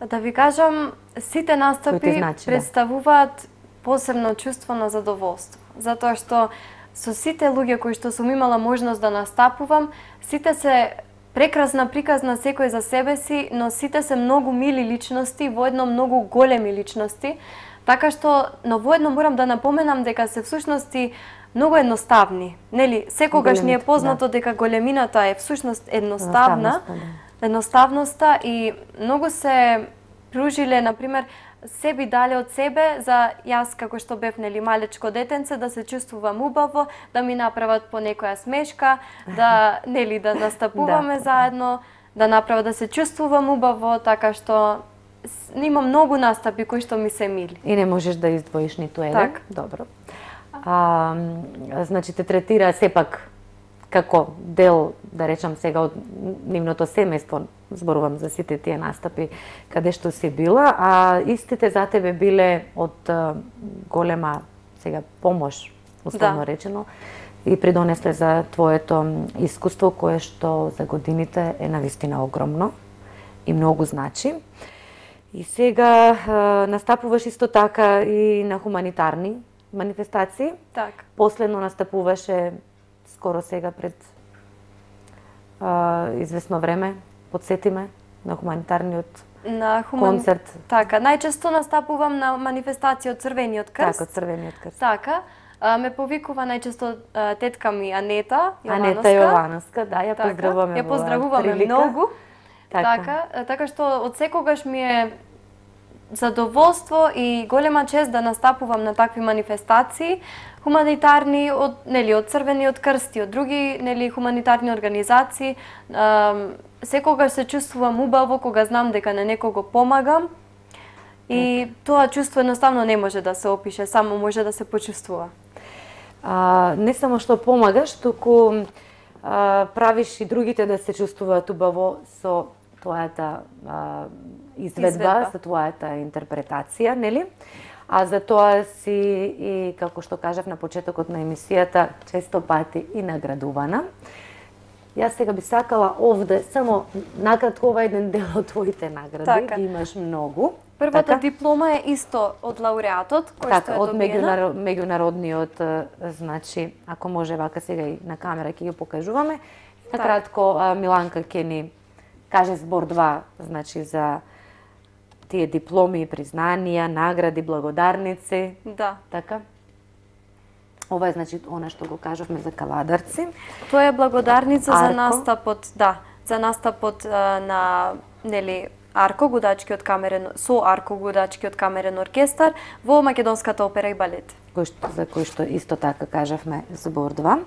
Да ви кажам, сите настапи значи, представуваат да. посебно чувство на задоволство, затоа што со сите луѓе кои што сум имала можност да настапувам, сите се прекрасна приказна секој за себе си, но сите се многу мили личности, воедно многу големи личности, така што, но воедно морам да напоменам дека се всушности многу едноставни. Нели, секогаш ни е познато да. дека големината е всушност едноставна, да. едноставноста и многу се пружиле, например, се би дале од себе за јас како што бев нели малечко детенце да се чувствувам убаво, да ми направат по некоја смешка, да нели да настапуваме да. заедно, да направат да се чувствувам убаво, така што има многу настапи кои што ми се мили. И не можеш да издвоиш ниту еден. Так. Добро. А, значи те третира сепак како дел, да речам сега, од нивното семејство, зборувам за сите тие настапи каде што си била, а истите за тебе биле од а, голема сега помош, условно да. речено, и придонесле за твоето искуство кое што за годините е навистина огромно и многу значи. И сега а, настапуваш исто така и на хуманитарни манифестации. Так. Последно настапуваше скоро сега пред а, известно време, подсетиме, на хуманитарниот на хуман... концерт. Така, најчесто настапувам на манифестација од Црвениот крст. Така, Црвениот крст. Така, а, ме повикува најчесто а, тетка ми Анета Јовановска. Анета Јовановска, да, ја поздравуваме. Ја поздравуваме многу. Така. така, така што од секогаш ми е задоволство и голема чест да настапувам на такви манифестации, хуманитарни од нели од Црвениот крст и од други нели хуманитарни организации. Е, секогаш се чувствувам убаво кога знам дека на некого помагам. И так. Тоа чувство едноставно не може да се опише, само може да се почувствува. А, не само што помагаш, туку а, правиш и другите да се чувствуваат убаво со твојата а, изведба, изведба, со твојата интерпретација, нели? А за тоа си и, како што кажав на почетокот на емисијата, често пати и наградувана. Јас сега би сакала овде само накратко ова еден дел од твоите награди, така. Ги имаш многу. Првата така? диплома е исто од лауреатот, кој така, што е од добиена. од меѓународниот, значи, ако може вака сега и на камера ќе ги покажуваме. Накратко, так. Миланка ќе ни каже збор два, значи, за тие дипломи, признанија, награди, благодарници. Да. Така? Ова е, значи, она што го кажавме за каладарци. Тоа е благодарница Арко. за настапот, да, за настапот а, на, нели, Арко, гудачкиот камерен, со Арко, гудачкиот камерен оркестар во Македонската опера и балет. Кој што, за кој што исто така кажавме збор два.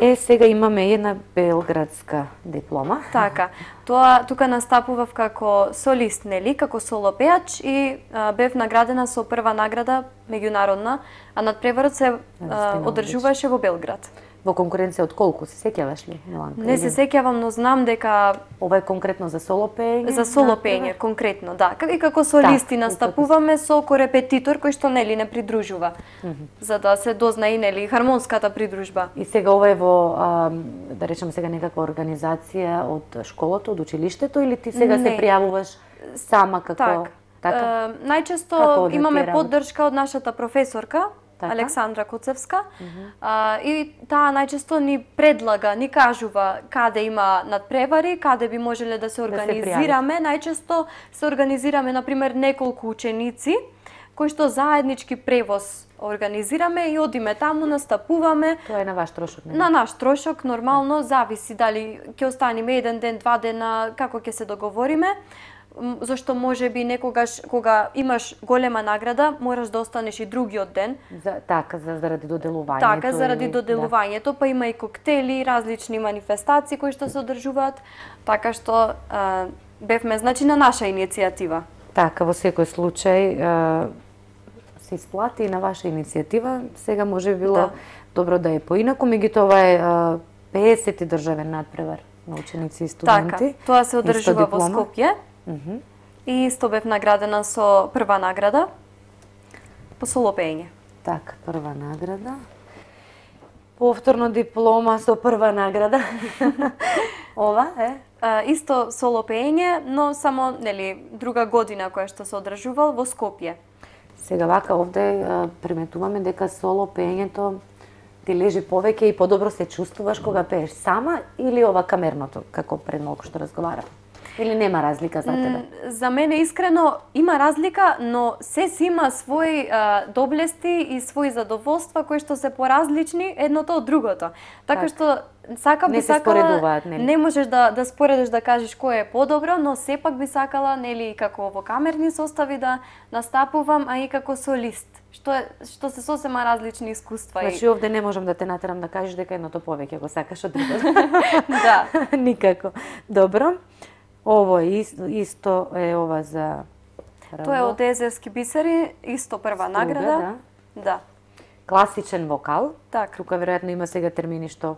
Е, сега имаме една белградска диплома. Така, тоа тука настапував како солист, нели, како соло пеач и а, бев наградена со прва награда меѓународна, а надпреварот се а, одржуваше во Белград. Во конкуренција од колку, се сеќаваш ли, Миланка? Не се сеќавам, но знам дека ова е конкретно за соло пеење. За соло пеење, конкретно, да. И како солисти да, настапуваме со корепетитор кој што нели не придружува. Mm -hmm. За да се дозна и нели хармонската придружба. И сега ова е во а, да речем сега некаква организација од школото, од училиштето или ти сега не. се пријавуваш сама како так. така? Е, најчесто имаме поддршка од нашата професорка така? Александра Куцевска. Mm -hmm. а, и таа најчесто ни предлага, ни кажува каде има надпревари, каде би можеле да се организираме. Да се најчесто се организираме, например, неколку ученици кои што заеднички превоз организираме и одиме таму, настапуваме. Тоа е на ваш трошок, не? На наш трошок, нормално, зависи дали ќе останеме еден ден, два дена, како ќе се договориме. Зашто може би некогаш кога имаш голема награда, мораш да останеш и другиот ден. За, така, за, заради доделувањето. Така, заради доделувањето, да. Па има и коктели, различни манифестации кои што се одржуваат, така што а, бевме, значи, на наша иницијатива. Така, во секој случај а, се исплати и на ваша иницијатива. Сега може би било да. добро да е поинаку, меѓутоа ова е а, педесети државен надпревар на ученици и студенти. Така, тоа се одржува во Скопје. Uh-huh. И исто бев наградена со прва награда по соло пеење. Така, прва награда. Повторно диплома со прва награда. Ова е? А, исто соло пеење, но само, нели, друга година која што се одржувал во Скопје. Сега вака овде а, приметуваме дека соло пеењето ти лежи повеќе и подобро се чувствуваш кога пееш сама или ова камерното, како пред малку што разговарам? Или нема разлика за тебе? За мене искрено има разлика, но се си има своји а, доблести и своји задоволства кои што се поразлични едното од другото. Така што сакам би сакала, не можеш да да споредиш да кажеш кој е подобро, но сепак би сакала, нели, како во камерни состави да настапувам, а и како солист. Што е што се сосема различни искуства. Значи овде не можам да те натерам да кажеш дека едното повеќе го сакаш од другото. Да, никако. Добро. Ово е исто, исто е ова за прво. Тоа е од Езерски бисери, исто прва Струга, награда. Да. Да. Класичен вокал. Така. Тука веројатно има сега термини што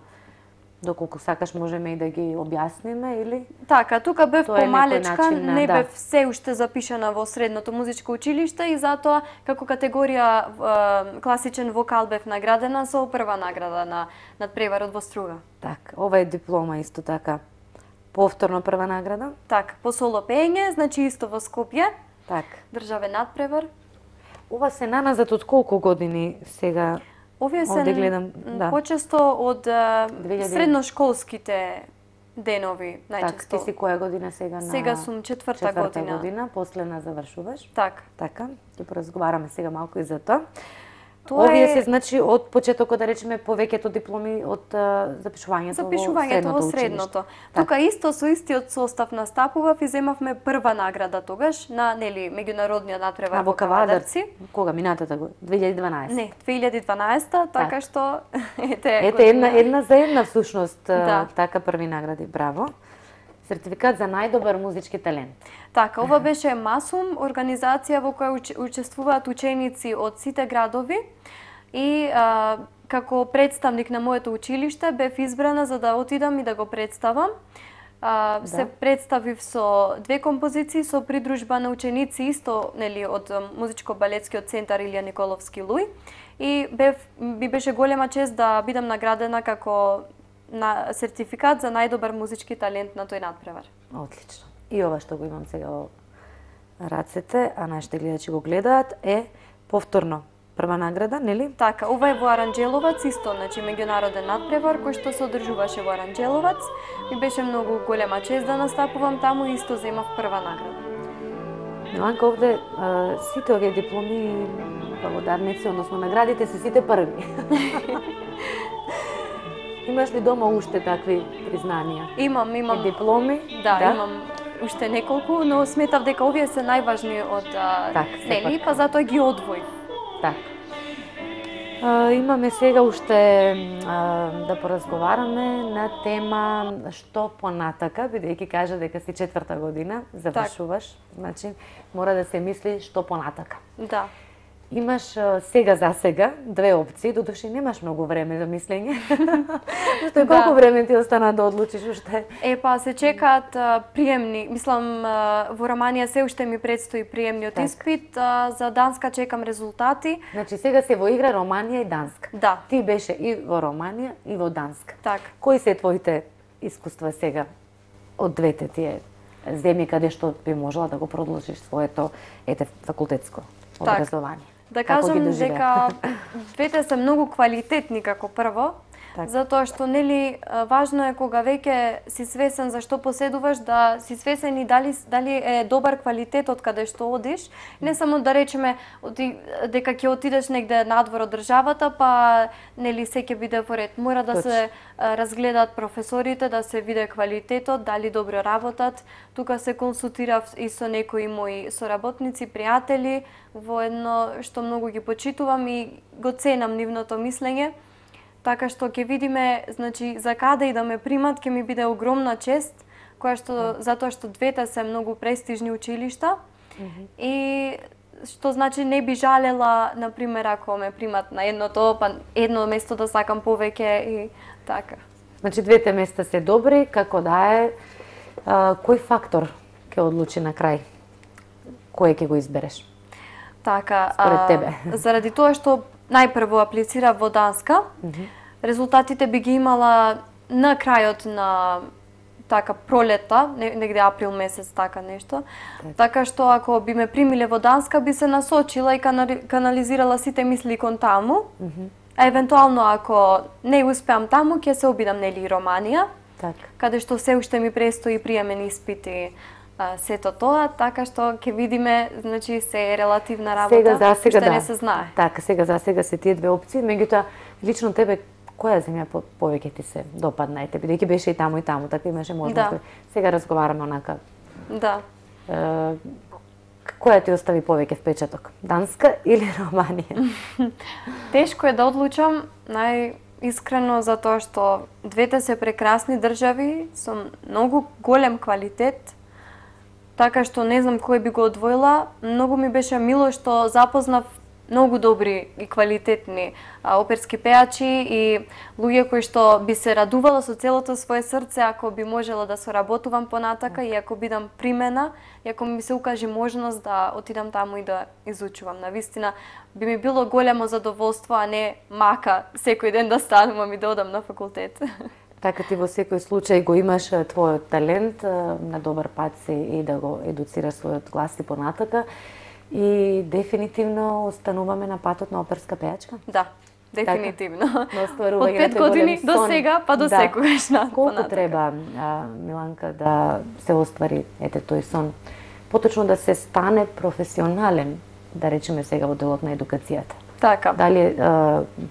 доколку сакаш можеме и да ги објасниме или Така, тука бев тоа е помалечка, некој начин на- не да. бев се уште запишана во средното музичко училиште и затоа како категорија е, класичен вокал бев наградена со прва награда на надпреварот во Струга. така, ова е диплома исто така. Повторно прва награда. Така, по соло пеење, значи исто во Скопје, Така. државен надпревар. Ова се наназад од колку години сега? Овие се Овде гледам, да. почесто од е, две илјади средношколските денови, Така, најчесто. ти си која година сега на Сега сум четврта, четврта година. година, последна завршуваш. Така. Така, ќе поразговараме сега малку и за тоа. Тоа Овие е- се значи од почетокот да речеме повеќето дипломи од а, запишувањето, Запишувањето во средното. Тука исто со истиот состав настапував и земавме прва награда тогаш на, нели, меѓународниот надпревар А во во Кавадарци? Кавадарци. Кога минатата година? две илјади и дванаесета. Не, две илјади и дванаесета, така што ете Ете една една за една всушност Да. така први награди, браво. Сертификат за најдобар музички талент. Така, ова беше Масум, организација во која уч- учествуваат ученици од сите градови и а, како представник на моето училиште бев избрана за да отидам и да го представам. А, Да. Се представив со две композиции со придружба на ученици исто, нели, од музичко-балетскиот центар Илија Николовски Луј и бев би беше голема чест да бидам наградена како на сертификат за најдобар музички талент на тој надпревар. Одлично. И ова што го имам сега во рацете, а нашите гледачи го гледаат, е повторно прва награда, нели? Така, ова е во Аранџеловац, исто, значи меѓународен надпревар кој што се одржуваше во Аранџеловац. Ми беше многу голема чест да настапувам таму и исто земав прва награда. Миланка, овде а, сите овие дипломи, благодарници, односно наградите се сите први. Имаш ли дома уште такви признанија? Имам, И имам, дипломи? да, имам уште неколку, но сметав дека овие се најважни од а, Так, нели, сепак. па затоа ги одвоив. Така. А, имаме сега уште а, да поразговараме на тема што понатака, бидејќи кажа дека си четврта година, завршуваш, значи мора да се мисли што понатака. Да. Имаш а, сега за сега две опции, додуши немаш многу време за мислење. Што е колку Да. време ти остана да одлучиш уште? Е, па се чекаат а, приемни. Мислам, а, во Романија се уште ми предстои приемниот Така. испит, а, за Данска чекам резултати. Значи сега се во игра Романија и Данска. Да, Ти беше и во Романија и во Данска. така. Кои се твоите искуства сега од двете тие земји каде што би можела да го продолжиш своето ете факултетско образование? Да Како ги кажам доживеа? дека двете се многу квалитетни како прво, Така. затоа што нели а, важно е кога веќе си свесен за што поседуваш да си свесен и дали дали е добар квалитет од каде што одиш, не само да речеме оди, дека ќе отидеш негде надвор од државата, па нели се ќе биде во ред. Мора да Точно. се а, разгледаат професорите, да се виде квалитетот, дали добро работат. Тука се консултирав и со некои мои соработници, пријатели, во едно што многу ги почитувам и го ценам нивното мислење. Така што ќе видиме, значи, за каде и да ме примат, ќе ми биде огромна чест, која што, затоа што двете се многу престижни училишта. И што значи не би жалела, например, ако ме примат на едното, па едно место да сакам повеќе и така. Значи двете места се добри, како да е, а, кој фактор ќе одлучи на крај кој ќе го избереш? Така, според а, тебе. Заради тоа што најпрво аплицира во Данска, mm -hmm. резултатите би ги имала на крајот на така пролета, негде април месец, така нешто. Так. Така што ако би ме примиле во Данска, би се насочила и канализирала сите мисли кон таму. Mm -hmm. А евентуално ако не успеам таму, ќе се обидам нели Романија, так. Каде што се уште ми престои приемен испити, а, сето тоа, така што ќе видиме, значи се е релативна работа, сега за сега уште да. не се знае. Така, сега за сега се тие две опции, меѓутоа лично тебе која земја повеќе ти се допадна и тебе, бидејќи беше и таму и таму, така имаше можност. Да. Сега разговараме онака. Да. Е, која ти остави повеќе впечаток? Данска или Романија? Тешко е да одлучам, најискрено затоа што двете се прекрасни држави со многу голем квалитет. Така што не знам кој би го одвоила. Многу ми беше мило што запознав многу добри и квалитетни а, оперски пеачи и луѓе кои што би се радувала со целото свое срце ако би можела да соработувам понатака и ако бидам примена, и ако ми се укаже можност да отидам таму и да изучувам. Навистина би ми било големо задоволство, а не мака секој ден да станувам и да одам на факултет. Така ти во секој случај го имаш твојот талент, на добар пат си и да го едуцираш својот глас и понатака. И дефинитивно остануваме на патот на оперска пеачка? Да, дефинитивно. Така, од пет години до сега, па до да. секогаш на Колку понатака. треба, а, Миланка, да се оствари ете тој сон? Поточно да се стане професионален, да речеме сега во делот на едукацијата. Така. Дали е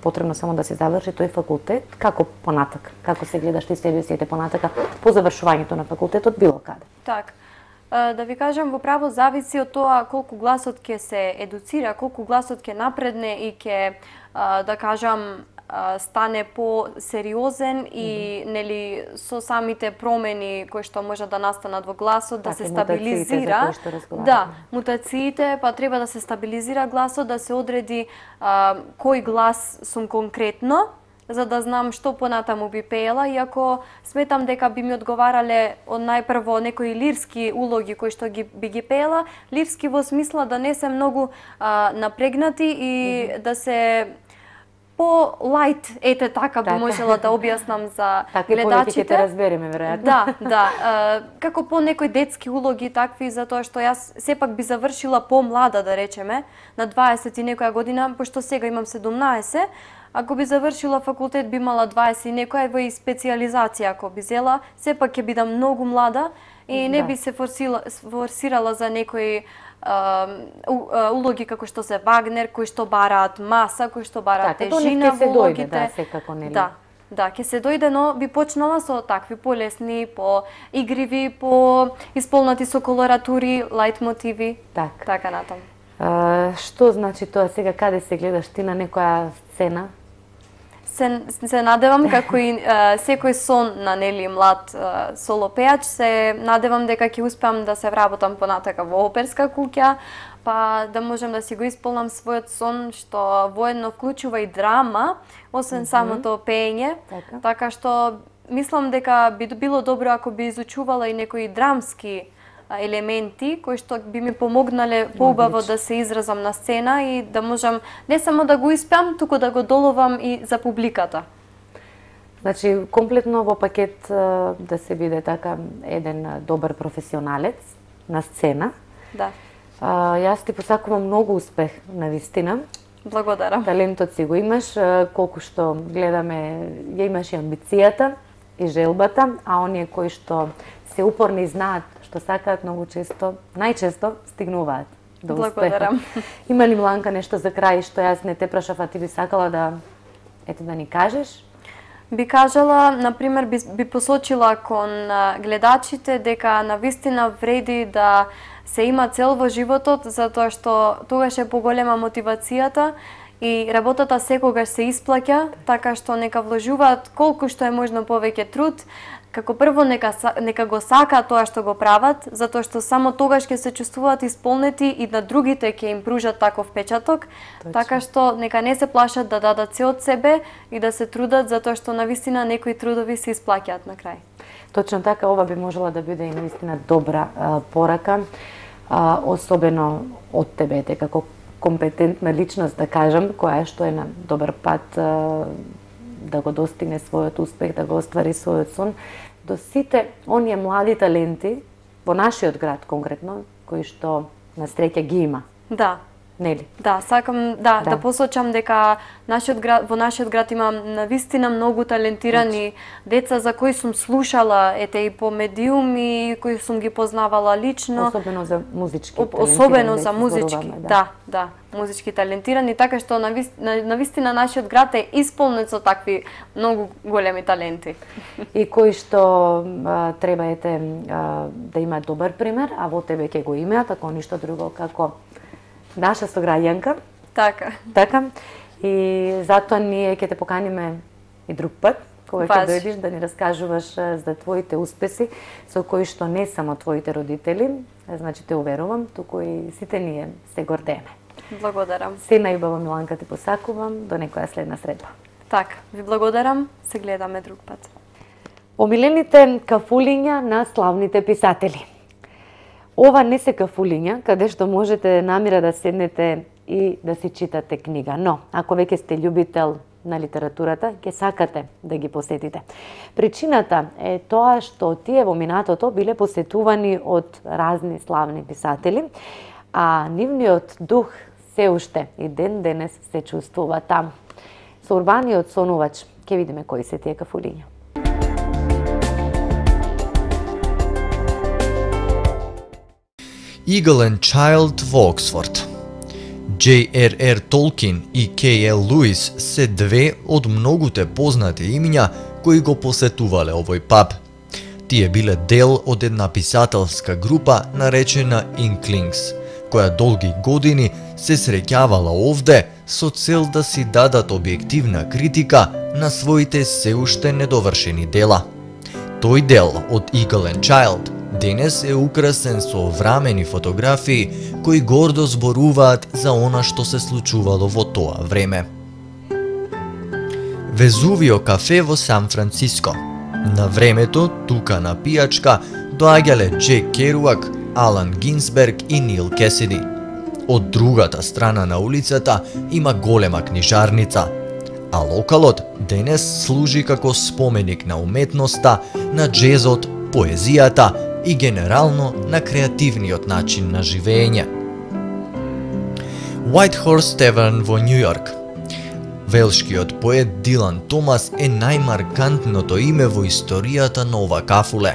потребно само да се заврши тој факултет? Како понатака? Како се гледаш ти себе си ете понатака по завршувањето на факултетот било каде? Така. Да ви кажам, во право зависи од тоа колку гласот ќе се едуцира, колку гласот ќе напредне и ќе, да кажам, стане по-сериозен и mm -hmm. нели со самите промени кои што може да настанат во гласот, да так, се стабилизира. Да, мутациите, па треба да се стабилизира гласот, да се одреди а, кој глас сум конкретно, за да знам што понатаму би пеела, иако сметам дека би ми одговарале од најпрво некои лирски улоги кои што ги, би ги пеела, лирски во смисла да не се многу а, напрегнати и mm -hmm. да се по-лайт, ете така би можела да објаснам за така, гледачите. Така ќе те разбереме, веројатно. Да, да. А, како по некои детски улоги такви, затоа што јас сепак би завршила по-млада, да речеме, на дваесет и некоја година, пошто сега имам седумнаесет. Ако би завршила факултет, би имала дваесет и некоја, во и специјализација ако би зела, сепак ќе бидам многу млада и не да. би се форсила, форсирала за некои Uh, улоги како што се Вагнер, кои што бараат маса, кои што бараат так, тежина во улогите. Да, секако, нели? Да, да, ќе се дојде, но би почнала со такви полесни, по игриви, по исполнати со колоратури, лајт мотиви, так. така натам. Uh, што значи тоа сега, каде се гледаш ти на некоја сцена? Се, се надевам, како и а, секој сон на нели млад а, солопеач, се надевам дека ќе успеам да се вработам понатака во оперска куќа, па да можам да си го исполнам својот сон, што воедно вклучува и драма, освен mm -hmm. самото пеење, така. така што мислам дека би било добро ако би изучувала и некои драмски елементи кои што би ми помогнале поубаво да се изразам на сцена и да можам не само да го испеам, туку да го доловам и за публиката. Значи, комплетно во пакет да се биде така еден добар професионалец на сцена. Да. А, јас ти посакувам многу успех, навистина. Благодарам. Талентот си го имаш, колку што гледаме, ја имаш и амбицијата и желбата, а оние кои што се упорни и знаат што сакаат, многу често, најчесто стигнуваат до успеха. Благодарам. Има ли, Миланка, нешто за крај што јас не те прашав, а ти би сакала да ете да ни кажеш? Би кажала, например, би, би посочила кон гледачите дека навистина вреди да се има цел во животот, затоа што тогаш е поголема мотивацијата и работата секогаш се исплаќа, така што нека вложуваат колку што е можно повеќе труд. Како прво нека нека го сакаат тоа што го прават, затоа што само тогаш ќе се чувствуваат исполнети и на другите ќе им пружат таков впечаток. Точно. Така што нека не се плашат да дадат се од себе и да се трудат, затоа што навистина некои трудови се исплаќаат на крај. Точно така, ова би можела да биде и наистина добра а, порака. а, особено од тебе, те како компетентна личност, да кажам, која што е на добар пат а, да го достигне својот успех, да го оствари својот сон, до сите оние млади таленти во нашиот град конкретно, кои што на среќа ги има. Да. Нели? Да, сакам да, Да. да посочам дека нашиот град, во нашиот град има навистина многу талентирани деца за кои сум слушала, ете и по медиуми, кои сум ги познавала лично. Особено за музички О- талентирани. Особено за деца музички, зборуваме, да, да, музички талентирани, така што на, на, на вистина нашиот град е исполнет со такви многу големи таленти. И кои што а, треба ете а, да има добар пример, а во тебе ќе го имаат, ако ништо друго како наша сограѓанка. Така. Така. И затоа ние ќе те поканиме и друг пат, кога ќе Важи. дојдеш да ни раскажуваш а, за твоите успеси, со кои што не само твоите родители, а, значи те уверувам, туку и сите ние се гордееме. Благодарам. Се најубаво, Миланка, ти посакувам до некоја следна средба. Така, ви благодарам, се гледаме друг пат. Омилените кафулиња на славните писатели. Ова не се кафулиња, каде што можете намира да седнете и да си читате книга, но ако веќе сте љубител на литературата, ќе сакате да ги посетите. Причината е тоа што тие во минатото биле посетувани од разни славни писатели, а нивниот дух се уште и ден денес се чувствува таму. Со урбаниот сонувач ќе видиме кои се тие кафулиња. Eagle and Child во Оксфорд. Џей Ер Ер Толкин и Кей Ел Луис се две од многуте познати имиња кои го посетувале овој паб. Тие биле дел од една писателска група наречена Inklings, која долги години се среќавала овде со цел да си дадат објективна критика на своите се уште недовршени дела. Тој дел од Eagle and Child денес е украсен со врамени фотографии кои гордо зборуваат за она што се случувало во тоа време. Везувио кафе во Сан Франциско. На времето, тука на пијачка, доаѓале Джек Керуак, Алан Гинсберг и Нил Кесиди. Од другата страна на улицата има голема книжарница, а локалот денес служи како споменик на уметноста, на джезот, поезијата и генерално на креативниот начин на живење. White Horse Tavern во Нью Йорк. Велшкиот поет Дилан Томас е најмаркантното име во историјата на ова кафуле,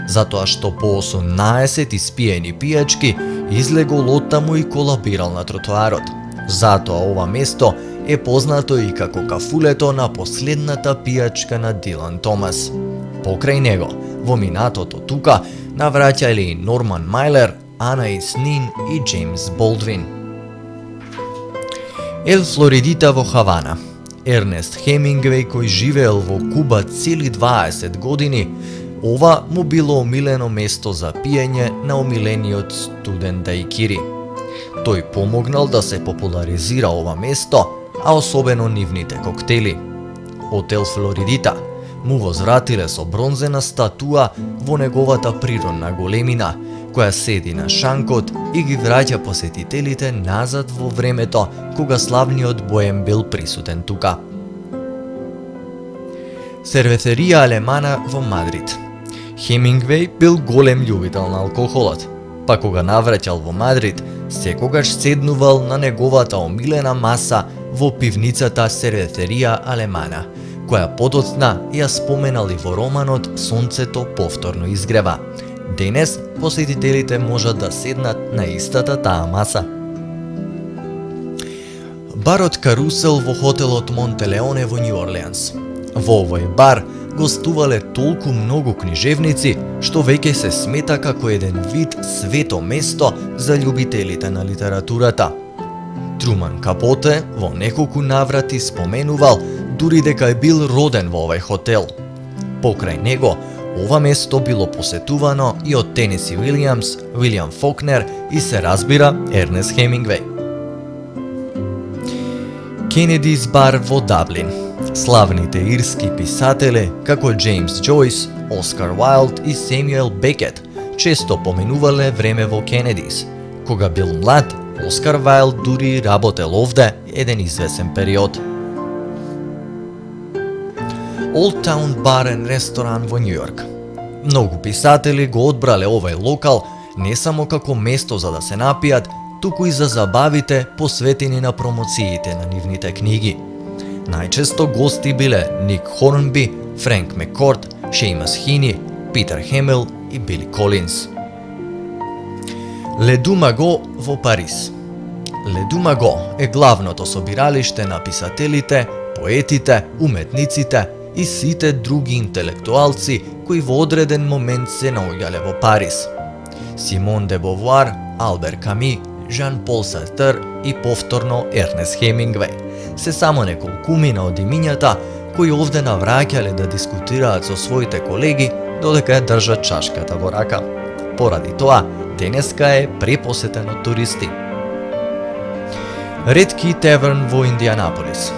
затоа што по осумнаесет испиени пијачки излегол оттаму и колабирал на тротоарот. Затоа ова место е познато и како кафулето на последната пијачка на Дилан Томас. Покрај него, во минатото тука, навраќале и Норман Мајлер, Анаис Нин и Джеймс Болдвин. Ел Флоридита во Хавана. Ернест Хемингвеј, кој живеел во Куба цели дваесет години, ова му било омилено место за пиење на омилениот студен дајкири. Тој помогнал да се популаризира ова место, а особено нивните коктели. Од Ел Флоридита му возвратиле со бронзена статуа во неговата природна големина, која седи на шанкот и ги враќа посетителите назад во времето кога славниот боем бил присутен тука. Серветерија Алемана во Мадрид. Хемингвеј бил голем љубител на алкохолот, па кога навраќал во Мадрид, секогаш седнувал на неговата омилена маса во пивницата Серветерија Алемана, која подоцна ја споменали во романот Сонцето повторно изгрева. Денес посетителите можат да седнат на истата таа маса. Барот Карусел во хотелот Монтелеоне во Њу Орлеанс. Во овој бар гостувале толку многу книжевници, што веќе се смета како еден вид свето место за љубителите на литературата. Труман Капоте во неколку наврати споменувал дури дека е бил роден во овој хотел. Покрај него, ова место било посетувано и од Тенеси Уилијамс, Уилијам Фокнер и се разбира Ернест Хемингвеј. Кенедис бар во Даблин. Славните ирски писатели како Джеймс Џојс, Оскар Уайлд и Семјуел Бекет често поменувале време во Кенедис, Кога бил млад, Оскар Вајлд дури работел овде еден извесен период. Old Town Bar and Restaurant во Њу Јорк. Многу писатели го одбрале овај локал не само како место за да се напијат, туку и за забавите посветени на промоциите на нивните книги. Најчесто гости биле Ник Хорнби, Френк Меккорд, Шејмас Хини, Питер Хемел и Били Колинс. Ле Ду Маго во Париз. Ле Ду Маго е главното собиралиште на писателите, поетите, уметниците и сите други интелектуалци кои во одреден момент се наоѓале во Париз. Симон де Бовуар, Албер Ками, Жан-Пол Сартер и повторно Ернест Хемингвеј се само неколкумина од имињата кои овде навраќале да дискутираат со своите колеги додека ја држат чашката во рака. Поради тоа, денеска е препосетен од туристи. Ред Кей Таверн во Индијанаполис.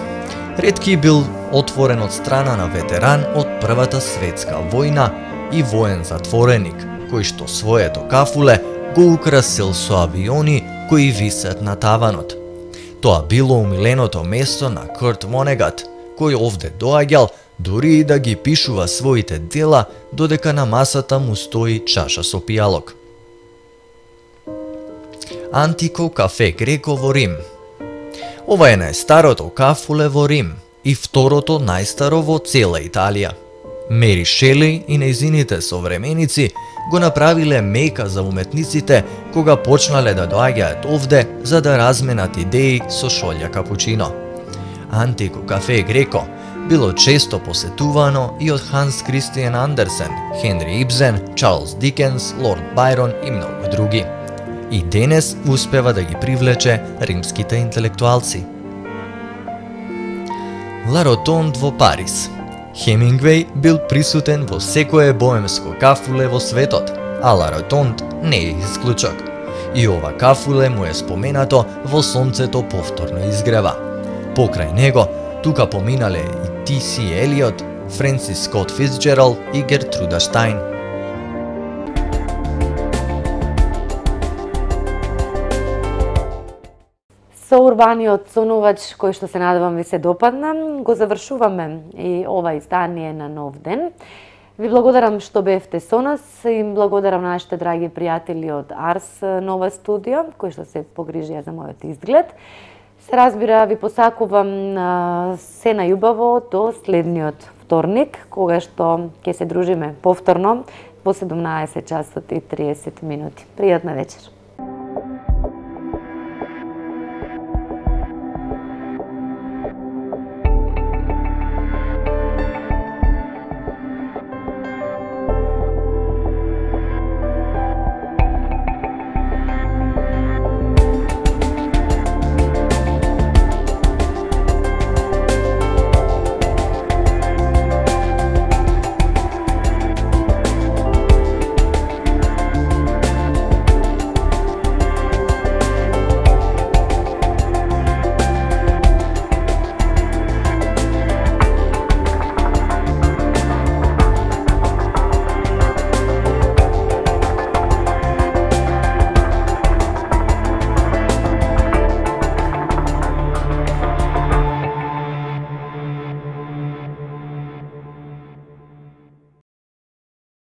Ред Кей бил отворен од страна на ветеран од Првата светска војна и воен затвореник, кој што своето кафуле го украсил со авиони кои висат на таванот. Тоа било умиленото место на Курт Вонегат, кој овде доаѓал дури и да ги пишува своите дела додека на масата му стои чаша со пијалок. Антико кафе Греко во Рим. Ова е најстарото кафуле во Рим и второто најстаро во цела Италија. Мери Шели и нејзините современици го направиле мека за уметниците кога почнале да доаѓаат овде за да разменат идеи со шолја капучино. Антико кафе Греко било често посетувано и од Ханс Кристијан Андерсен, Хенри Ибсен, Чарлс Дикенс, Лорд Бајрон и многу други. И денес успева да ги привлече римските интелектуалци. Ла Ротонд во Париз. Хемингвеј бил присутен во секое боемско кафуле во светот, а Ла Ротонд не е исклучок. И ова кафуле му е споменато во Сонцето повторно изгрева. Покрај него, тука поминале и Ти Си Елиот, Френсис Скот Фицџералд и Гертруда Штајн. Со урбаниот сонувач, кој што се надевам ви се допадна, го завршуваме и ова издание на Нов ден. Ви благодарам што бевте со нас и благодарам нашите драги пријатели од Арс Нова студио, кои што се погрижија за мојот изглед. Се разбира, ви посакувам се најубаво до следниот вторник, кога што ќе се дружиме повторно во седумнаесет часот и триесет минути. Пријатна вечер.